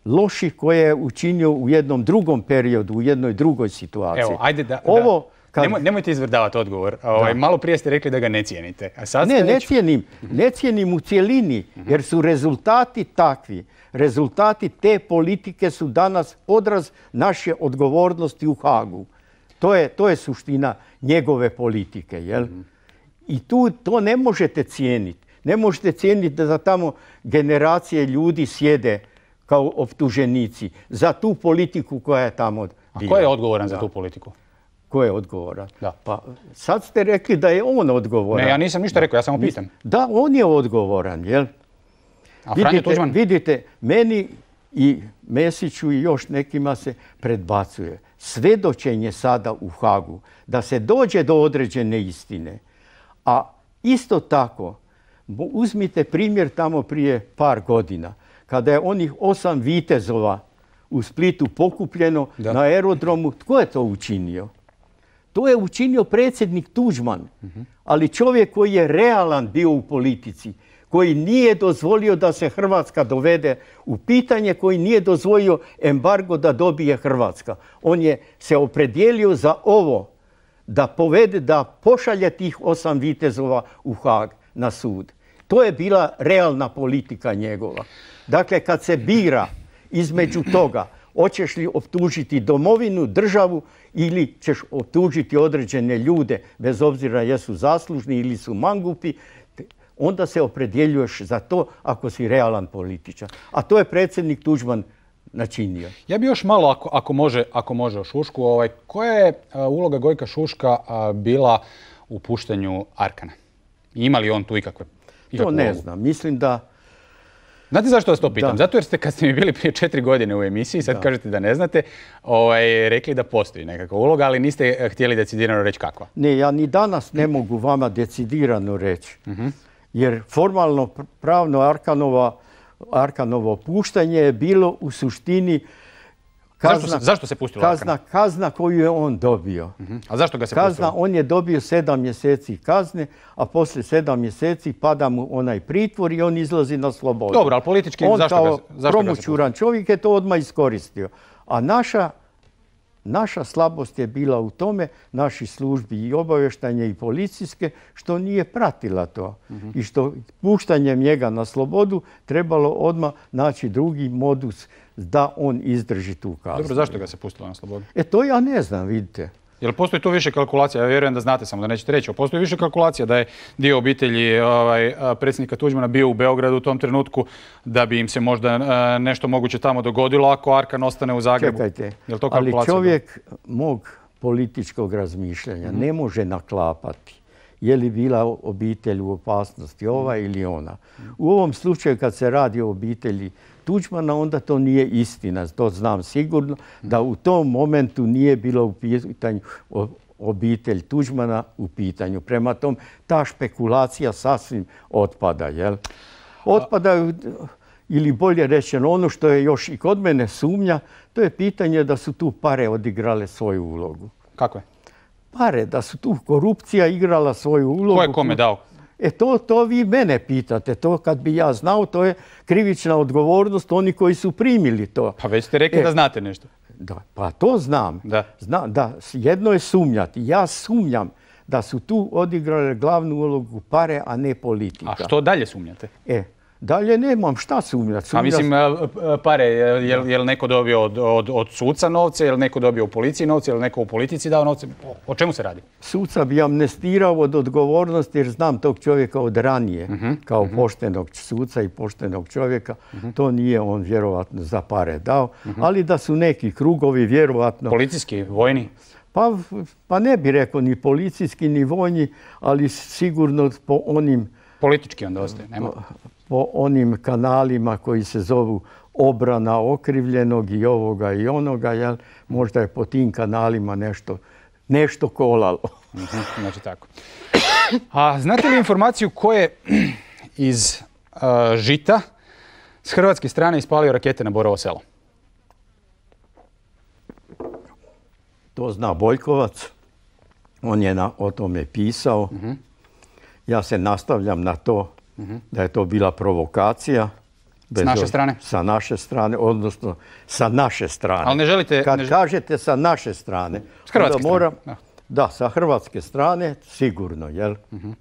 loših koje je učinio u jednom drugom periodu, u jednoj drugoj situaciji. Evo, ajde da... Ovo, da. Kad... Nemoj, nemojte izvrdavati odgovor. Ovaj, malo prije ste rekli da ga ne cijenite. A sad ne, ste ne već... cijenim. Ne cijenim u cjelini, jer su rezultati takvi. Rezultati te politike su danas odraz naše odgovornosti u Hagu. To je, to je suština njegove politike. Jel? Mm-hmm. I tu to ne možete cijeniti. Ne možete cijeniti da tamo generacije ljudi sjede kao optuženici za tu politiku koja je tamo bila. A ko je odgovoran za tu politiku? Ko je odgovoran? Da. Pa sad ste rekli da je on odgovoran. Ne, ja nisam ništa rekao, ja samo pitam. Da, on je odgovoran, jel? A Franjo Tuđman? Vidite, meni i Mesiću i još nekima se predbacuje svedočenje sada u Hagu, da se dođe do određene istine. A isto tako, uzmite primjer tamo prije par godina, kada je onih osam vitezova u Splitu pokupljeno da. na aerodromu. Tko je to učinio? To je učinio predsjednik Tuđman, uh-huh. ali čovjek koji je realan bio u politici, koji nije dozvolio da se Hrvatska dovede u pitanje, koji nije dozvolio embargo da dobije Hrvatska. On je se opredijelio za ovo, da povede, da pošalje tih osam vitezova u Hag na sud. To je bila realna politika njegova. Dakle, kad se bira između toga, hoćeš li optužiti domovinu, državu ili ćeš optužiti određene ljude, bez obzira jesu zaslužni ili su mangupi, onda se opredjeljuješ za to ako si realan političar. A to je predsjednik Tuđman načinio. Ja bi još malo, ako, ako, može, ako može o Šušku, ovaj, koja je a, uloga Gojka Šuška a, bila u puštanju Arkana? Ima li on tu ikakve? To ne ulogu? znam. Mislim da... Znate zašto vas to pitam? Da. Zato jer ste, kad ste mi bili prije četiri godine u emisiji, sad da. kažete da ne znate, ovaj, rekli da postoji nekakva uloga, ali niste htjeli decidirano reći kakva. Ne, ja ni danas ne mogu vama decidirano reći. Uh-huh. Jer formalno pravno Arkanova, Arkanovo puštanje je bilo u suštini kazna, zašto, se, zašto se pustilo kazna, Arkan? Kazna koju je on dobio. Uh-huh. A zašto ga se kazna, pustilo? On je dobio sedam mjeseci kazne, a poslije sedam mjeseci pada mu onaj pritvor i on izlazi na slobodu. Dobro, ali politički on zašto, ga, zašto ga se promućuran čovjek je to odmah iskoristio. A naša Naša slabost je bila u tome, naših službi i obavještanje i policijske, što nije pratila to. Uh-huh. I što puštanjem njega na slobodu trebalo odmah naći drugi modus da on izdrži tu kaznu. Dobro, zašto ga se pustilo na slobodu? E to ja ne znam, vidite. Jel postoji tu više kalkulacija? Ja vjerujem da znate, samo da nećete reći. Postoji više kalkulacija da je dio obitelji ovaj, predsjednika Tuđmana bio u Beogradu u tom trenutku da bi im se možda nešto moguće tamo dogodilo ako Arkan ostane u Zagrebu. Čekajte, Jel to ali čovjek da? mog političkog razmišljanja. Ne može naklapati je li bila obitelj u opasnosti, ova ili ona. U ovom slučaju kad se radi o obitelji Tuđmana, onda to nije istina. To znam sigurno da u tom momentu nije bilo u pitanju obitelj Tuđmana u pitanju. Prema tom, ta špekulacija sasvim otpada. Jel? Otpadaju, ili bolje rečeno, ono što je još i kod mene sumnja, to je pitanje da su tu pare odigrale svoju ulogu. Kako je? Pare, da su tu korupcija igrala svoju ulogu. Ko je kome dao? E to, to vi mene pitate. To kad bi ja znao, to je krivična odgovornost oni koji su primili to. Pa već ste rekli e, da znate nešto. Da, pa to znam. Da. Zna, da. Jedno je sumnjati. Ja sumnjam da su tu odigrale glavnu ulogu pare, a ne politika. A što dalje sumnjate? E, dalje nemam šta sumnjati. A mislim, pare, je li, je li neko dobio od, od, od suca novce, je li neko dobio u policiji novce, je li neko u politici dao novce? O, o čemu se radi? Suca bi amnestirao od odgovornosti jer znam tog čovjeka od ranije, uh-huh, kao uh-huh. poštenog suca i poštenog čovjeka. Uh-huh. To nije on vjerovatno za pare dao, uh-huh. ali da su neki krugovi vjerovatno... Policijski, vojni? Pa, pa ne bi rekao ni policijski, ni vojni, ali sigurno po onim... Politički onda ostaje, nema? Po, po onim kanalima koji se zovu obrana okrivljenog i ovoga i onoga, jel? Možda je po tim kanalima nešto, nešto kolalo. Uh-huh, znači tako. A znate li informaciju ko je iz uh, Žita s hrvatske strane ispalio rakete na Borovo selo? To zna Boljkovac. On je na, o tome pisao. Uh-huh. Ja se nastavljam na to uh-huh. da je to bila provokacija. S naše strane? Sa naše strane, odnosno sa naše strane. Ali ne želite... Kad ne... kažete sa naše strane... S hrvatske moram, strane? Da. da, sa hrvatske strane, sigurno, jel? Uh-huh.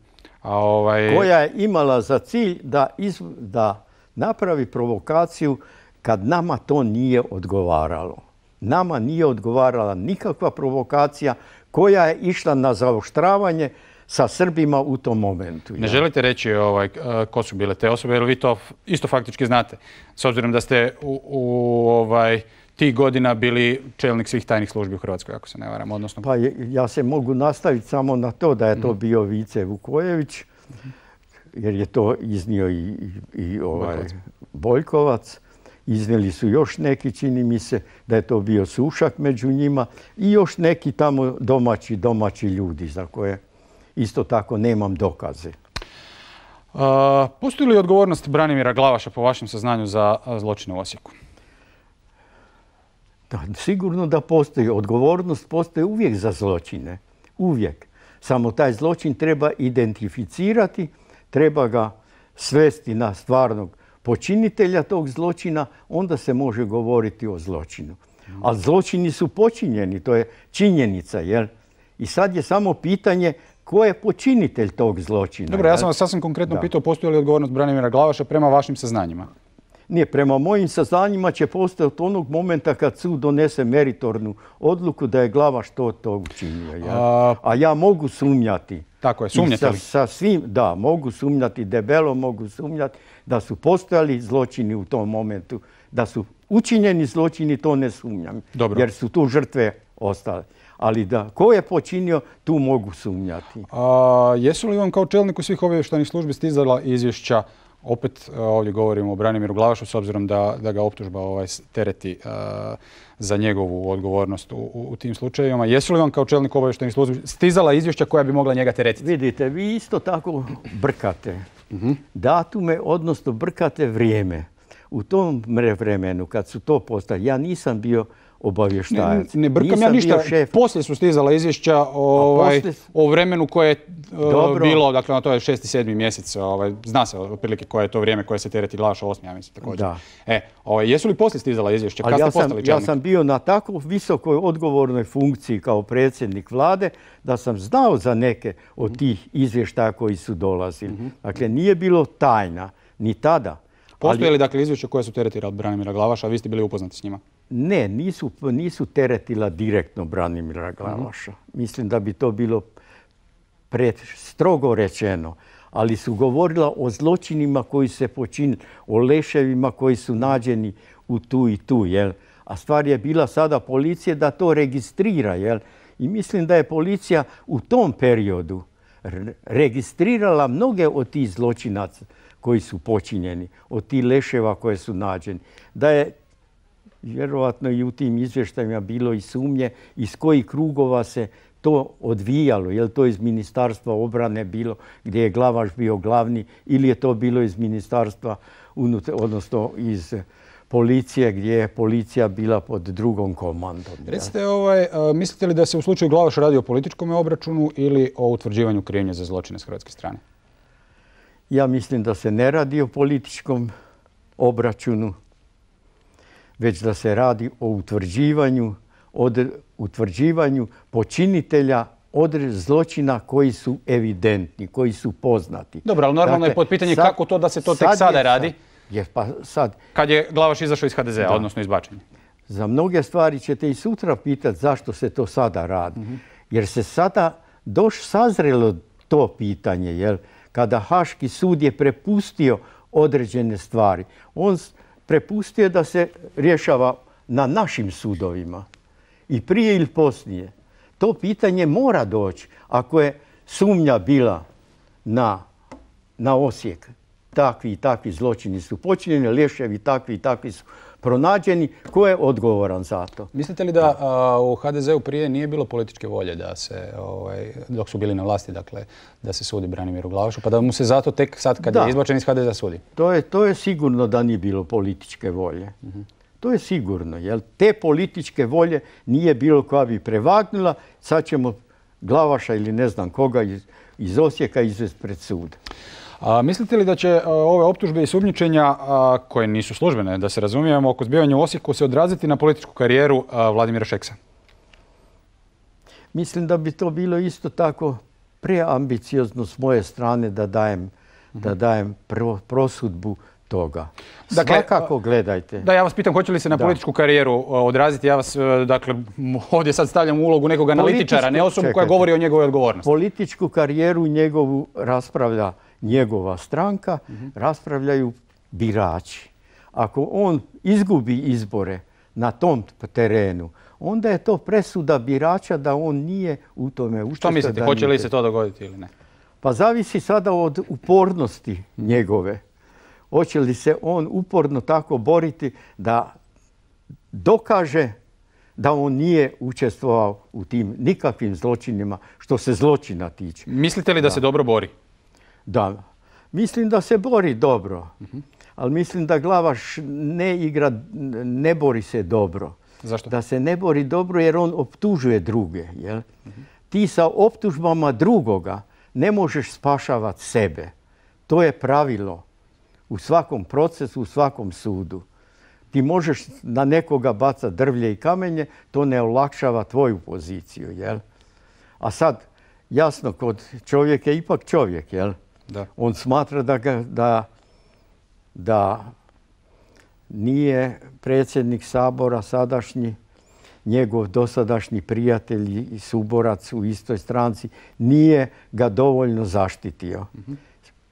A ovaj... Koja je imala za cilj da, iz, da napravi provokaciju kad nama to nije odgovaralo. Nama nije odgovarala nikakva provokacija koja je išla na zaoštravanje sa Srbima u tom momentu. Ne ja. želite reći ovaj, ko su bile te osobe, jer vi to isto faktički znate. S obzirom da ste u, u ovaj, tih godina bili čelnik svih tajnih službi u Hrvatskoj, ako se ne varam. Odnosno... Pa je, ja se mogu nastaviti samo na to da je to bio Vice Vukojević, jer je to iznio i, i, i ovaj, Boljkovac. Boljkovac. Iznijeli su još neki, čini mi se, da je to bio Sušak među njima i još neki tamo domaći, domaći ljudi za koje isto tako nemam dokaze. Uh, postoji li odgovornost Branimira Glavaša po vašem saznanju za zločine u Osijeku? Da, sigurno da postoji. Odgovornost postoji uvijek za zločine. Uvijek. Samo taj zločin treba identificirati, treba ga svesti na stvarnog počinitelja tog zločina, onda se može govoriti o zločinu. Ali zločini su počinjeni, to je činjenica, jel? I sad je samo pitanje ko je počinitelj tog zločina. Dobro, ja sam vas sasvim konkretno da. pitao postoji li odgovornost Branimira Glavaša prema vašim saznanjima? Nije, prema mojim saznanjima će postojati onog momenta kad sud donese meritornu odluku da je Glavaš to, to učinio. Jel? A... A ja mogu sumnjati. Tako je, sumnjate li? Sa, sa svim, da, mogu sumnjati, debelo mogu sumnjati da su postojali zločini u tom momentu. Da su učinjeni zločini, to ne sumnjam. Dobro. Jer su tu žrtve ostale. Ali da, ko je počinio, tu mogu sumnjati. A, jesu li vam kao čelniku svih obavještajnih službi stizala izvješća, opet ovdje govorimo o Branimiru Glavašu, s obzirom da, da ga optužba ovaj, tereti a, za njegovu odgovornost u, u, u tim slučajevima. Jesu li vam kao čelnik obavještajnih službi stizala izvješća koja bi mogla njega teretiti? Vidite, vi isto tako brkate uh-huh. datume, odnosno brkate vrijeme. U tom vremenu, kad su to postali, ja nisam bio obavještajac. Ne, ne brkam ja ništa. Poslije su stizala izvješća ovaj, poslije... o vremenu koje je uh, bilo, dakle, to je šesti, sedmi mjesec. Ovaj, zna se otprilike koje je to vrijeme koje se tereti Glavaša, osmi, ja mislim također. Da. E, ovaj, jesu li poslije stizala izvješća? Kad ja ste postali sam, ja sam bio na tako visokoj odgovornoj funkciji kao predsjednik vlade da sam znao za neke od tih izvještaja koji su dolazili. Mm-hmm. Dakle, nije bilo tajna ni tada. Postoje li dakle izvješća koje su teretila Branimira Glavaša, a vi ste bili upoznati s njima? Ne, nisu, nisu teretila direktno Branimira Glavaša. Mm-hmm. Mislim da bi to bilo pred, strogo rečeno. Ali su govorila o zločinima koji se počinili, o leševima koji su nađeni u tu i tu. Jel? A stvar je bila sada policije da to registrira. Jel? I mislim da je policija u tom periodu registrirala mnoge od tih zločinaca koji su počinjeni, od tih leševa koje su nađeni. Da je vjerovatno i u tim izvještajima bilo i sumnje iz kojih krugova se to odvijalo. Je li to iz Ministarstva obrane bilo gdje je Glavaš bio glavni ili je to bilo iz Ministarstva, odnosno iz policije gdje je policija bila pod drugom komandom. Recite, ovaj, mislite li da se u slučaju Glavaša radi o političkom obračunu ili o utvrđivanju krivnje za zločine s hrvatske strane? Ja mislim da se ne radi o političkom obračunu, već da se radi o utvrđivanju, od, utvrđivanju počinitelja određenih zločina koji su evidentni, koji su poznati. Dobro, ali normalno dakle, je pod pitanje sad, kako to da se to tek sada je, radi, je, pa sad, kad je Glavaš izašao iz H D Z-a, odnosno izbačen. Za mnoge stvari ćete i sutra pitati zašto se to sada radi. Mm-hmm. Jer se sada doš sazrelo to pitanje, jel? Kada Haški sud je prepustio određene stvari. On prepustio da se rješava na našim sudovima. I prije ili poslije. To pitanje mora doći. Ako je sumnja bila na, na Osijek, takvi i takvi zločini su počinjeni, leševi takvi i takvi su pronađeni, ko je odgovoran za to? Mislite li da a, u H D Z-u prije nije bilo političke volje da se, ovaj, dok su bili na vlasti, dakle, da se sudi Branimiru Glavašu, pa da mu se zato tek sad kad da. je izbačen iz H D Z-a sudi? To je, to je sigurno da nije bilo političke volje. Uh-huh. To je sigurno, jer te političke volje nije bilo koja bi prevagnula, sad ćemo Glavaša ili ne znam koga iz, iz Osijeka izvesti pred sud. A, mislite li da će a, ove optužbe i sumnjičenja, a, koje nisu službene, da se razumijemo, oko zbivanja u Osijeku se odraziti na političku karijeru a, Vladimira Šeksa? Mislim da bi to bilo isto tako preambiciozno s moje strane da dajem, mm-hmm. da dajem pro, prosudbu toga. Dakle, svakako gledajte. Da, ja vas pitam, hoće li se na da. političku karijeru odraziti? Ja vas, dakle, ovdje sad stavljam u ulogu nekog analitičara, ne osobu koja govori o njegovoj odgovornosti. Političku karijeru njegovu raspravlja njegova stranka, mm-hmm. raspravljaju birači. Ako on izgubi izbore na tom terenu, onda je to presuda birača da on nije u tome učestvovao. Što mislite, hoće li se to dogoditi ili ne? Pa zavisi sada od upornosti njegove. Hoće li se on uporno tako boriti da dokaže da on nije učestvovao u tim nikakvim zločinima što se zločina tiče. Mislite li da, da se dobro bori? Da, mislim da se bori dobro, uh-huh. ali mislim da Glavaš ne igra, ne bori se dobro. Zašto? Da se ne bori dobro jer on optužuje druge. Jel? Uh-huh. Ti sa optužbama drugoga ne možeš spašavati sebe. To je pravilo u svakom procesu, u svakom sudu. Ti možeš na nekoga bacati drvlje i kamenje, to ne olakšava tvoju poziciju. Jel? A sad, jasno, kod čovjek je ipak čovjek, jel? Da. On smatra da, ga, da, da nije predsjednik Sabora sadašnji, njegov dosadašnji prijatelj i suborac u istoj stranci, nije ga dovoljno zaštitio. Mm-hmm.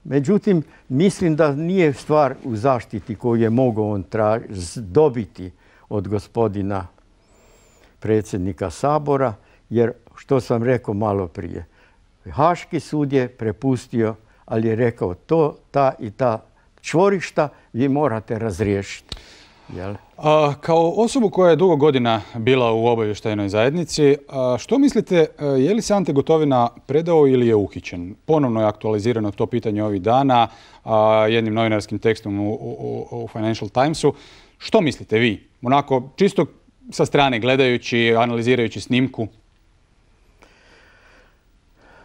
Međutim, mislim da nije stvar u zaštiti koju je mogao on traž- dobiti od gospodina predsjednika Sabora, jer što sam rekao malo prije, Haški sud je prepustio, ali je rekao to, ta i ta čvorišta vi morate razriješiti. Jel? A, kao osobu koja je dugo godina bila u obavještajnoj zajednici, a, što mislite, je li se Ante Gotovina predao ili je uhićen? Ponovno je aktualizirano to pitanje ovih dana a, jednim novinarskim tekstom u, u, u Financial Timesu. Što mislite vi? Onako, čisto sa strane gledajući, analizirajući snimku.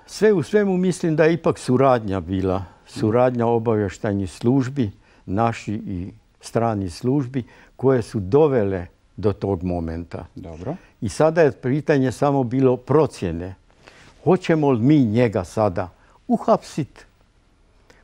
Sve u svemu mislim da je ipak suradnja bila. Suradnja obavještajnih službi, naši i strani službi, koje su dovele do tog momenta. Dobro. I sada je pitanje samo bilo procjene. Hoćemo li mi njega sada uhapsiti,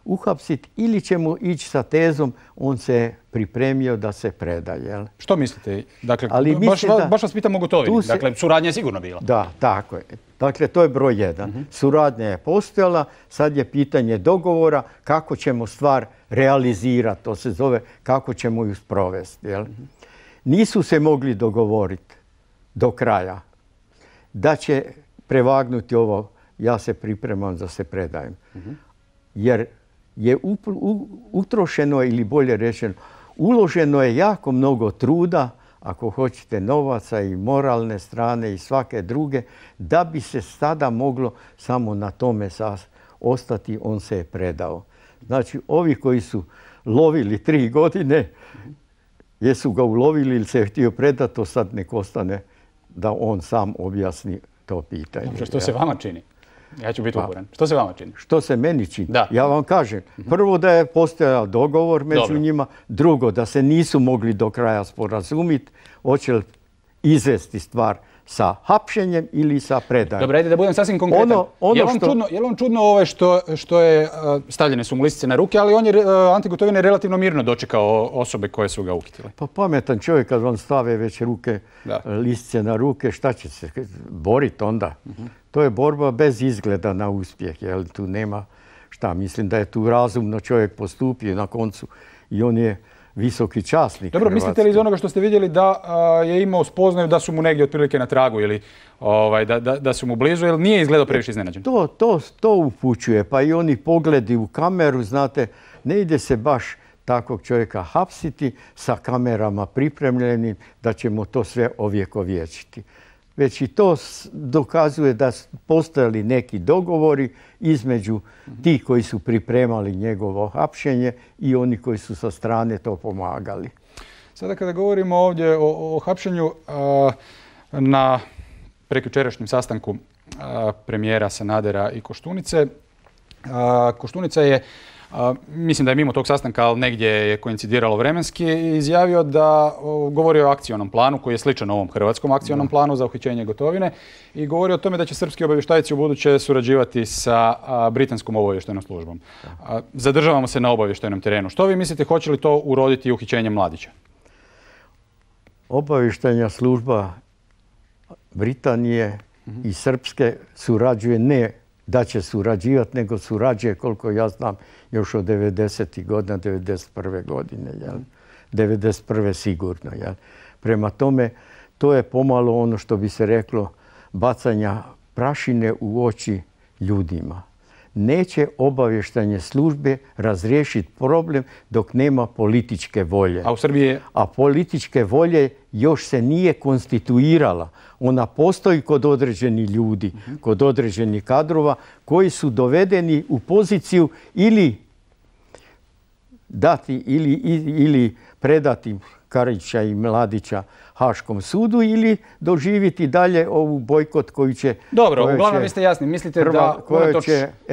uhapsit ili ćemo ići sa tezom on se pripremio da se preda. Jel? Što mislite? Dakle, Ali baš, da, baš vas pitam o Gotovini. Se, dakle, suradnja je sigurno bila. Da, tako je. Dakle, to je broj jedan. Uh-huh. Suradnja je postojala, sad je pitanje dogovora kako ćemo stvar realizirati. To se zove kako ćemo ju sprovesti. Jel? Uh-huh. Nisu se mogli dogovoriti do kraja. da će prevagnuti ovo, ja se pripremam da se predajem. Jer je utrošeno, ili bolje rečeno, uloženo je jako mnogo truda, ako hoćete novaca i moralne strane i svake druge, da bi se sada moglo samo na tome ostati, on se je predao. Znači, ovi koji su lovili tri godine, jesu ga ulovili ili se je htio predati, to sad nek ostane da on sam objasni to pitanje. Dobro, što se vama čini? Ja ću biti uporan. Što se vama čini? Što se meni čini? Da. Ja vam kažem, prvo da je postojao dogovor među Dobro. njima, drugo da se nisu mogli do kraja sporazumiti, hoće li izvesti stvar sa hapšenjem ili sa predajom. Dobro, ajde da budem sasvim konkretan. Ono, ono je, li što... čudno, je li on čudno ovo što, što je, stavljene su mu listice na ruke, ali on je, Ante Gotovina je relativno mirno dočekao osobe koje su ga uhitile? Pa pametan čovjek kad vam stave već ruke, da. listice na ruke, šta će se boriti onda? Uh-huh. To je borba bez izgleda na uspjeh, jer tu nema šta. Mislim da je tu razumno čovjek postupio na koncu i on je visoki časnik. Dobro, Hrvatske. Mislite li iz onoga što ste vidjeli da a, je imao spoznaju da su mu negdje otprilike na tragu ili ovaj, da, da, da su mu blizu, ili nije izgledao previše iznenađen? To, to, to upućuje, pa i oni pogledi u kameru, znate, ne ide se baš takvog čovjeka hapsiti sa kamerama pripremljenim da ćemo to sve ovjekovječiti. Već i to dokazuje da su postojali neki dogovori između tih koji su pripremali njegovo hapšenje i oni koji su sa strane to pomagali. Sada kada govorimo ovdje o, o hapšenju, a, na prekjučerašnjem sastanku a, premijera Sanadera i Koštunice, a, Koštunica je, a, mislim da je mimo tog sastanka, ali negdje je koincidiralo vremenski, izjavio da o, govori o akcionom planu koji je sličan ovom hrvatskom akcionom da. planu za uhićenje Gotovine i govori o tome da će srpski obavještajci u buduće surađivati sa a, britanskom obavještajnom službom. A, zadržavamo se na obavještajnom terenu. Što vi mislite, hoće li to uroditi uhićenjem Mladića? Obavještajna služba Britanije mm-hmm. i srpske surađuje, ne da će surađivati, nego surađuje, koliko ja znam, još od devedesetih godina, devedeset prve godine. Jel? devedeset prve sigurno. Jel? Prema tome, to je pomalo ono što bi se reklo bacanja prašine u oči ljudima. Neće obavještajne službe razriješiti problem dok nema političke volje. A u Srbiji je... A političke volje još se nije konstituirala. Ona postoji kod određenih ljudi, uh-huh. kod određenih kadrova koji su dovedeni u poziciju ili dati ili, ili predati Karića i Mladića Haškom sudu ili doživjeti dalje ovu bojkot koji će... Dobro, uglavnom vi ste jasni. Mislite da unatoč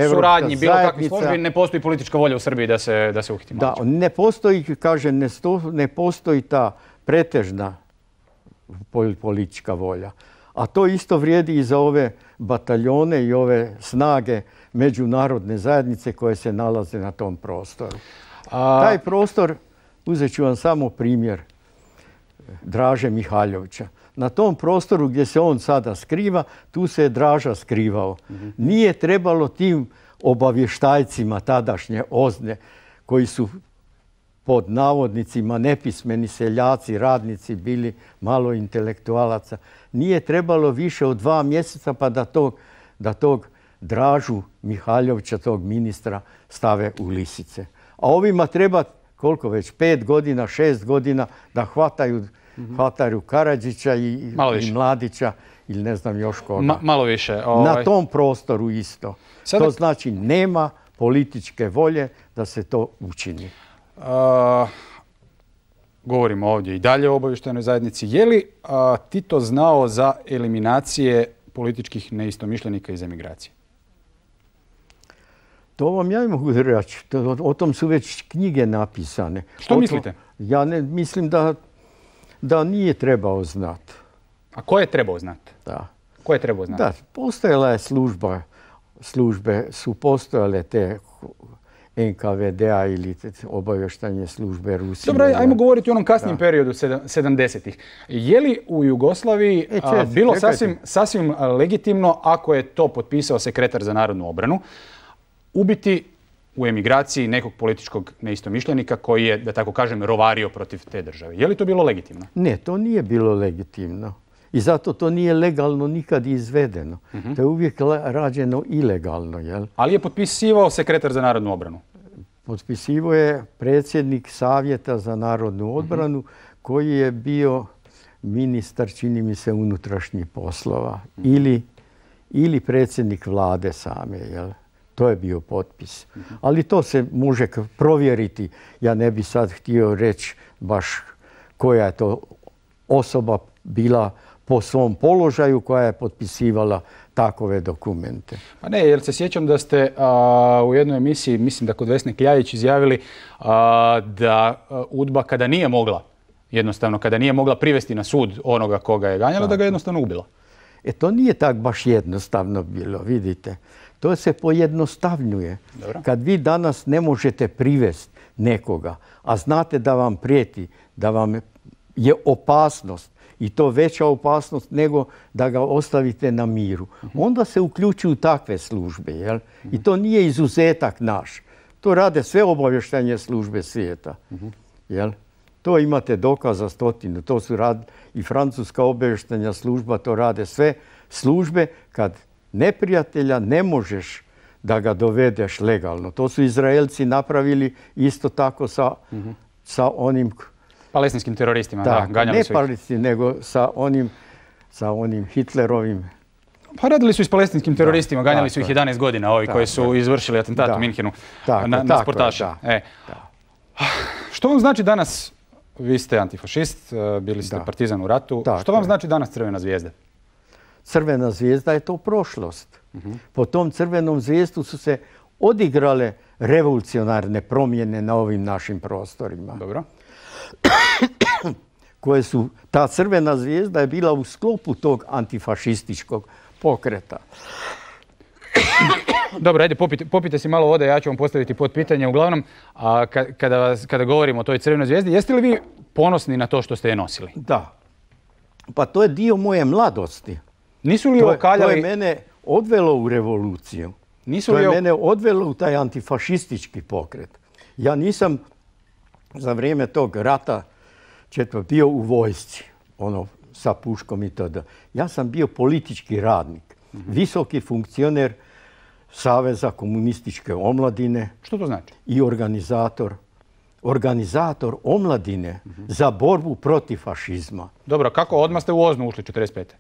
suradnji bilo kakvih službi ne postoji politička volja u Srbiji da se, da se uhiti Mladić? Da, ne postoji, kaže, ne, sto, ne postoji ta pretežna politička volja. A to isto vrijedi i za ove bataljone i ove snage međunarodne zajednice koje se nalaze na tom prostoru. A... Taj prostor, uzet ću vam samo primjer Draže Mihaljevića. Na tom prostoru gdje se on sada skriva, tu se je Draža skrivao. Mm-hmm. Nije trebalo tim obavještajcima tadašnje OZNE, koji su pod navodnicima nepismeni seljaci, radnici, bili malo intelektualaca. Nije trebalo više od dva mjeseca pa da tog, da tog Dražu Mihaljevića, tog ministra, stave u lisice. A ovima treba, koliko već, pet godina, šest godina da hvataju, mm-hmm. hvataju Karadžića i, i Mladića ili ne znam još koga. Ma, malo više. Ovaj... Na tom prostoru isto. Sada... To znači nema političke volje da se to učini. Uh, govorimo ovdje i dalje o obavještajnoj zajednici. Je li uh, Tito znao za eliminacije političkih neistomišljenika iz emigracije? To vam ja mogu reći. O tom su već knjige napisane. Što mislite? Ja ne mislim da, da nije trebao znati. A ko je trebao znati? Da. Ko je trebao znati? Da, postojala je služba, službe su postojale te en ka ve de a ili obavještajne službe Rusije. Dobro, ajmo govoriti o onom kasnijem da. periodu sedamdesetih. Je li u Jugoslaviji e, a, bilo sasvim, sasvim legitimno, ako je to potpisao sekretar za narodnu obranu, ubiti u emigraciji nekog političkog neistomišljenika koji je, da tako kažem, rovario protiv te države? Je li to bilo legitimno? Ne, to nije bilo legitimno. I zato to nije legalno nikad izvedeno. To je uvijek rađeno ilegalno. Jel? Ali je potpisivao sekretar za narodnu obranu? Potpisivao je predsjednik Savjeta za narodnu odbranu koji je bio ministar, čini mi se, unutrašnjih poslova ili, ili predsjednik vlade same. Jel? To je bio potpis. Ali to se može provjeriti. Ja ne bi sad htio reći baš koja je to osoba bila po svom položaju koja je potpisivala takove dokumente. Pa ne, jer se sjećam da ste a, u jednoj emisiji, mislim da kod Vesne Kljajić, izjavili a, da a, UDBA kada nije mogla, jednostavno kada nije mogla privesti na sud onoga koga je ganjala, da ga jednostavno ubila. E to nije tak baš jednostavno bilo, vidite. To se pojednostavnjuje. Dobro. Kad vi danas ne možete privesti nekoga, a znate da vam prijeti, da vam je opasnost, i to veća opasnost nego da ga ostavite na miru, onda se uključuju takve službe. Jel? I to nije izuzetak naš. To rade sve obavještajne službe svijeta. Jel? To imate dokaza stotinu. To su rad i francuska obavještajna služba, to rade sve službe kad neprijatelja ne možeš da ga dovedeš legalno. To su Izraelci napravili isto tako sa, sa onim palestinskim teroristima, da, ganjali ne su ih. Ne palestinskim, nego sa onim, sa onim Hitlerovim. Pa radili su i s palestinskim teroristima, da, ganjali tako su ih je. jedanaest godina, ovi Tako koji su je. izvršili atentat Da. u Minhenu Tako, na, na tako sportaše. je, da. E. Što vam znači danas, vi ste antifašist, bili ste Da. partizan u ratu, Tako što vam je. znači danas Crvena zvijezda? Crvena zvijezda je to prošlost. Po tom crvenom zvijezdu su se odigrale revolucionarne promjene na ovim našim prostorima. Dobro. Koje su, ta crvena zvijezda je bila u sklopu tog antifašističkog pokreta. Dobro, ajde, popite, popite si malo vode, ja ću vam postaviti pod pitanje. Uglavnom, a, kada, vas, kada govorimo o toj Crvenoj zvijezdi, jeste li vi ponosni na to što ste je nosili? Da. Pa to je dio moje mladosti. Nisu li To je, okaljali... to je mene odvelo u revoluciju. Nisu To li je o- mene odvelo u taj antifašistički pokret. Ja nisam za vrijeme tog rata četvrto bio u vojsci, ono sa puškom i tada. Ja sam bio politički radnik, visoki funkcioner Saveza komunističke omladine Što to znači? i organizator, organizator omladine za borbu protiv fašizma. Dobro, kako odmah ste u Oznu ušli četrdeset pete?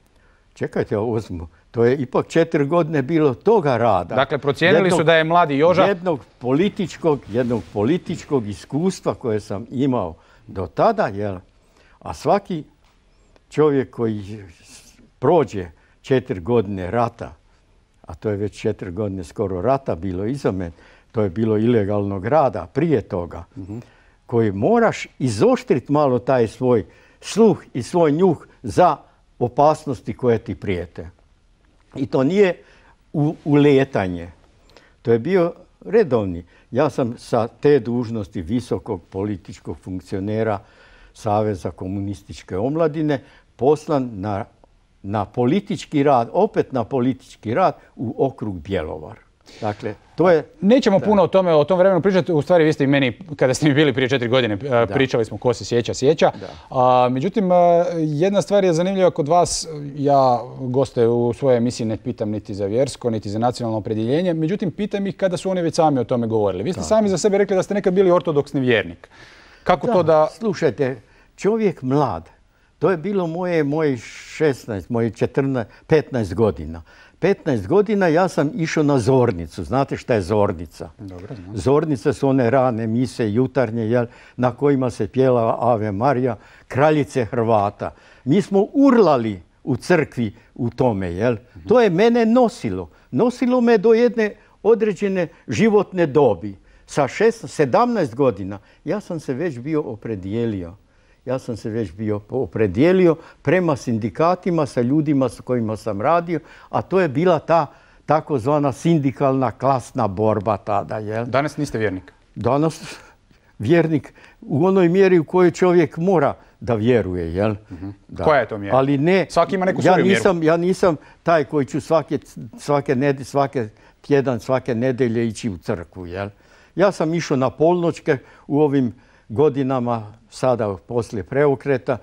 Čekajte, Ozmu, to je ipak četiri godine bilo toga rada. Dakle, procijenili Jednog- su da je mladi Joža... Jednog političkog, jednog političkog iskustva koje sam imao do tada, jel? A svaki čovjek koji prođe četiri godine rata, a to je već četiri godine skoro rata bilo iza mene, to je bilo ilegalnog rada prije toga, koji moraš izoštriti malo taj svoj sluh i svoj njuh za opasnosti koje ti prijete. I to nije u, uletanje. To je bio redovni. Ja sam sa te dužnosti visokog političkog funkcionera Saveza komunističke omladine poslan na, na politički rad, opet na politički rad u okrug Bjelovar. Dakle, to je... Nećemo puno o tome, o tom vremenu pričati. U stvari, vi ste i meni, kada ste mi bili prije četiri godine, a, pričali smo ko se sjeća, sjeća. A, međutim, a, jedna stvar je zanimljiva kod vas. Ja goste u svojoj emisiji ne pitam niti za vjersko, niti za nacionalno opredjeljenje. Međutim, pitam ih kada su oni već sami o tome govorili. Vi ste sami za sebe rekli da ste nekad bili ortodoksni vjernik. Kako Da, to da... Slušajte, čovjek mlad, to je bilo moje, moje šesnaest, moje četrnaest, petnaest godina. petnaest godina ja sam išao na zornicu. Znate šta je zornica? Dobro, znam. Zornice su one rane mise, jutarnje, jel, na kojima se pjela Ave Marija, kraljice Hrvata. Mi smo urlali u crkvi u tome, jel? To je mene nosilo. Nosilo me do jedne određene životne dobi. Sa šesnaest, sedamnaest godina ja sam se već bio opredijelio. Ja sam se već bio opredijelio prema sindikatima sa ljudima s kojima sam radio, a to je bila ta takozvana sindikalna klasna borba tada. Jel? Danas niste vjernik. Danas vjernik u onoj mjeri u kojoj čovjek mora da vjeruje. Jel? Da. Koja je to mjera? Ali ne, Svaki ima neku ja svoju nisam, mjeru. ja nisam taj koji ću svake, svake, ned, svake tjedan, svake nedelje ići u crkvu. Jel? Ja sam išao na polnoćke u ovim godinama, sada poslije preokreta,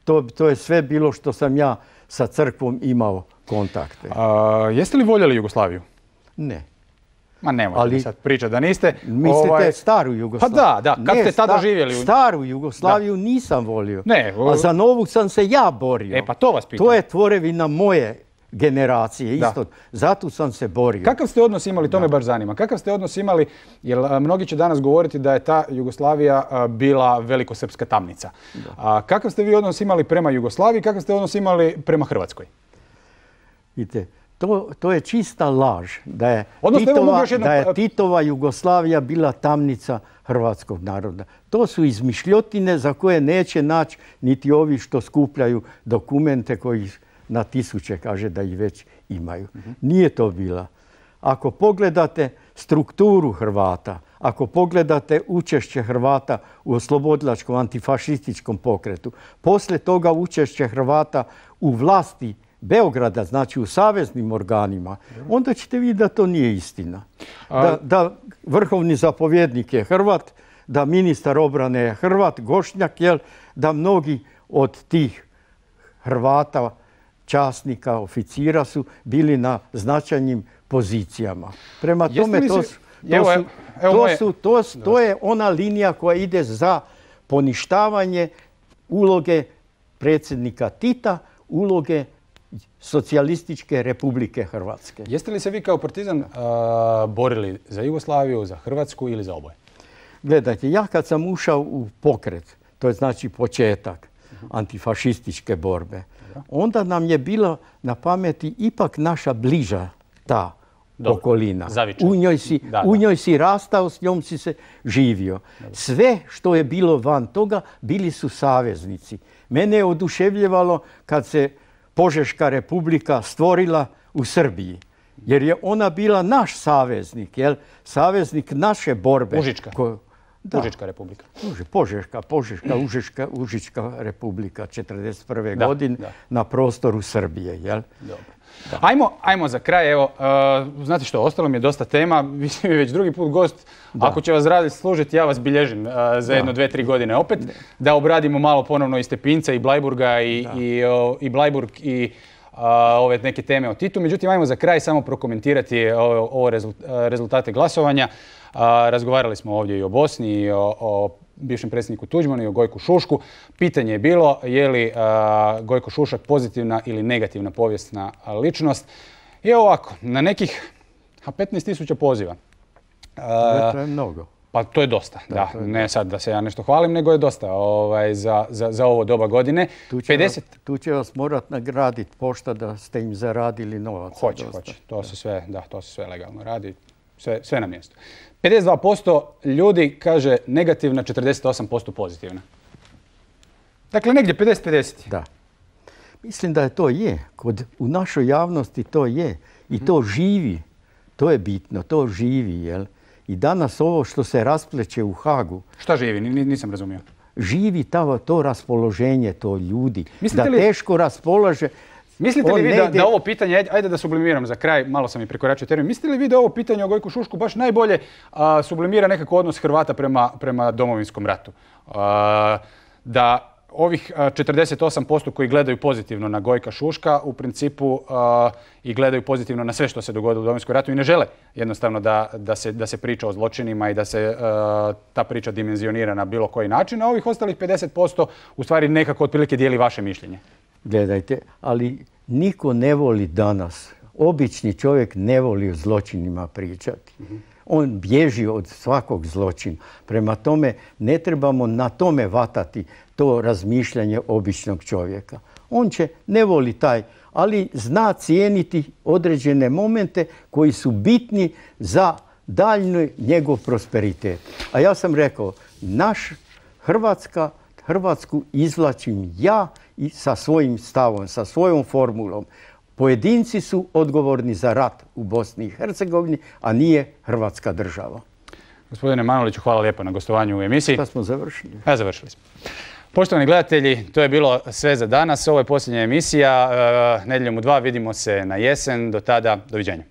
To, to je sve bilo što sam ja sa crkvom imao kontakte. A, jeste li voljeli Jugoslaviju? Ne. Ma nemojte ali, sad pričati da niste. Mislite ovaj... staru Jugoslaviju? Pa da, da. Kad ne, ste tada sta, živjeli? Staru Jugoslaviju da. nisam volio. Ne. A za novu sam se ja borio. E pa to vas pitam. To je tvorevina moje generacije isto. Zato sam se borio. Kakav ste odnos imali, to da. me baš zanima. Kakav ste odnos imali, jer mnogi će danas govoriti da je ta Jugoslavija bila velikosrpska tamnica. A, kakav ste vi odnos imali prema Jugoslaviji, kakav ste odnos imali prema Hrvatskoj? Vidite, to, to je čista laž. Da je, Odnosno, Titova, jedno... da je Titova Jugoslavija bila tamnica hrvatskog naroda. To su izmišljotine za koje neće naći niti ovi što skupljaju dokumente koji na tisuće kaže da ih već imaju. Uh-huh. Nije to bila. Ako pogledate strukturu Hrvata, ako pogledate učešće Hrvata u oslobodilačkom antifašističkom pokretu, poslije toga učešće Hrvata u vlasti Beograda, znači u saveznim organima, onda ćete vidjeti da to nije istina. Da, da vrhovni zapovjednik je Hrvat, da ministar obrane je Hrvat, Gošnjak, jel, da mnogi od tih Hrvata, časnika, oficira su bili na značajnim pozicijama. Prema tome, to, su, to, su, to, su, to, su, to je ona linija koja ide za poništavanje uloge predsjednika Tita, uloge Socijalističke Republike Hrvatske. Jeste li se vi kao partizan uh, borili za Jugoslaviju, za Hrvatsku ili za oboje? Gledajte, ja kad sam ušao u pokret, to je znači početak uh-huh. antifašističke borbe, onda nam je bila na pameti ipak naša bliža ta Dobro. okolina. U njoj, si, da, u njoj si rastao, s njom si se živio. Dobro. Sve što je bilo van toga bili su saveznici. Mene je oduševljivalo kad se Požeška republika stvorila u Srbiji. Jer je ona bila naš saveznik, jel? Saveznik naše borbe. Užička. Ko, da. Užička republika. Požeška, Požeška, Užička, Užička republika četrdeset prve da, godine da. na prostoru Srbije, jel? Dobro. Da. Ajmo, ajmo za kraj, evo, uh, znate što, ostalo mi je dosta tema, vi ste mi već drugi put gost, da. ako će vas radi služiti, ja vas bilježim uh, za jedno, dve, tri godine opet, da. da obradimo malo ponovno i Stepinca, i Blajburga, i, i, uh, i Blajburg, i uh, ove neke teme o Titu. Međutim, ajmo za kraj samo prokomentirati ovo, ovo rezultate glasovanja. Uh, razgovarali smo ovdje i o Bosni, i o, o bivšem predsjedniku Tuđmanu i o Gojku Šušku. Pitanje je bilo je li uh, Gojko Šušak pozitivna ili negativna povijesna ličnost. I ovako, na nekih petnaest tisuća poziva. Uh, to je mnogo. Pa to je dosta, da. da. Je ne sad da se ja nešto hvalim, nego je dosta ovaj, za, za, za ovo doba godine. Tu će, pedeset... vas, tu će vas morat nagraditi pošta da ste im zaradili novac. Hoće, hoće. To se sve, da, to se sve legalno radi. Sve, sve na mjestu. pedeset dva posto ljudi kaže negativna, četrdeset osam posto pozitivna. Dakle, negdje pedeset pedeset. Da. Mislim da je to je. Kod, u našoj javnosti to je. I to živi. To je bitno. To živi, jel? I danas ovo što se raspleće u Hagu... Šta živi? Nisam razumio. Živi ta, to raspoloženje, to ljudi. Mislite da li... teško raspolaže... Mislite li vi da, ide... da ovo pitanje, ajde da sublimiram za kraj, malo sam i prekoračio termin, mislite li vi da ovo pitanje o Gojku Šušku baš najbolje a, sublimira nekako odnos Hrvata prema, prema Domovinskom ratu? A, da ovih četrdeset osam posto koji gledaju pozitivno na Gojka Šuška u principu a, i gledaju pozitivno na sve što se dogodilo u Domovinskom ratu i ne žele jednostavno da, da, se, da se priča o zločinima i da se a, ta priča dimenzionira na bilo koji način, a ovih ostalih pedeset posto u stvari nekako otprilike dijeli vaše mišljenje. Gledajte, ali niko ne voli danas, obični čovjek ne voli o zločinima pričati. Mm-hmm. On bježi od svakog zločina. Prema tome ne trebamo na tome vatati to razmišljanje običnog čovjeka. On će, ne voli taj, ali zna cijeniti određene momente koji su bitni za daljnji njegov prosperitet. A ja sam rekao, naš Hrvatska, Hrvatsku izvlačim ja i sa svojim stavom, sa svojom formulom. Pojedinci su odgovorni za rat u Bosni i Hercegovini, a nije Hrvatska država. Gospodine Manoliću, hvala lijepo na gostovanju u emisiji. Šta smo završili? Ja, završili smo. Poštovani gledatelji, to je bilo sve za danas. Ovo je posljednja emisija. E, nedjeljom u dva vidimo se na jesen. Do tada, doviđenja.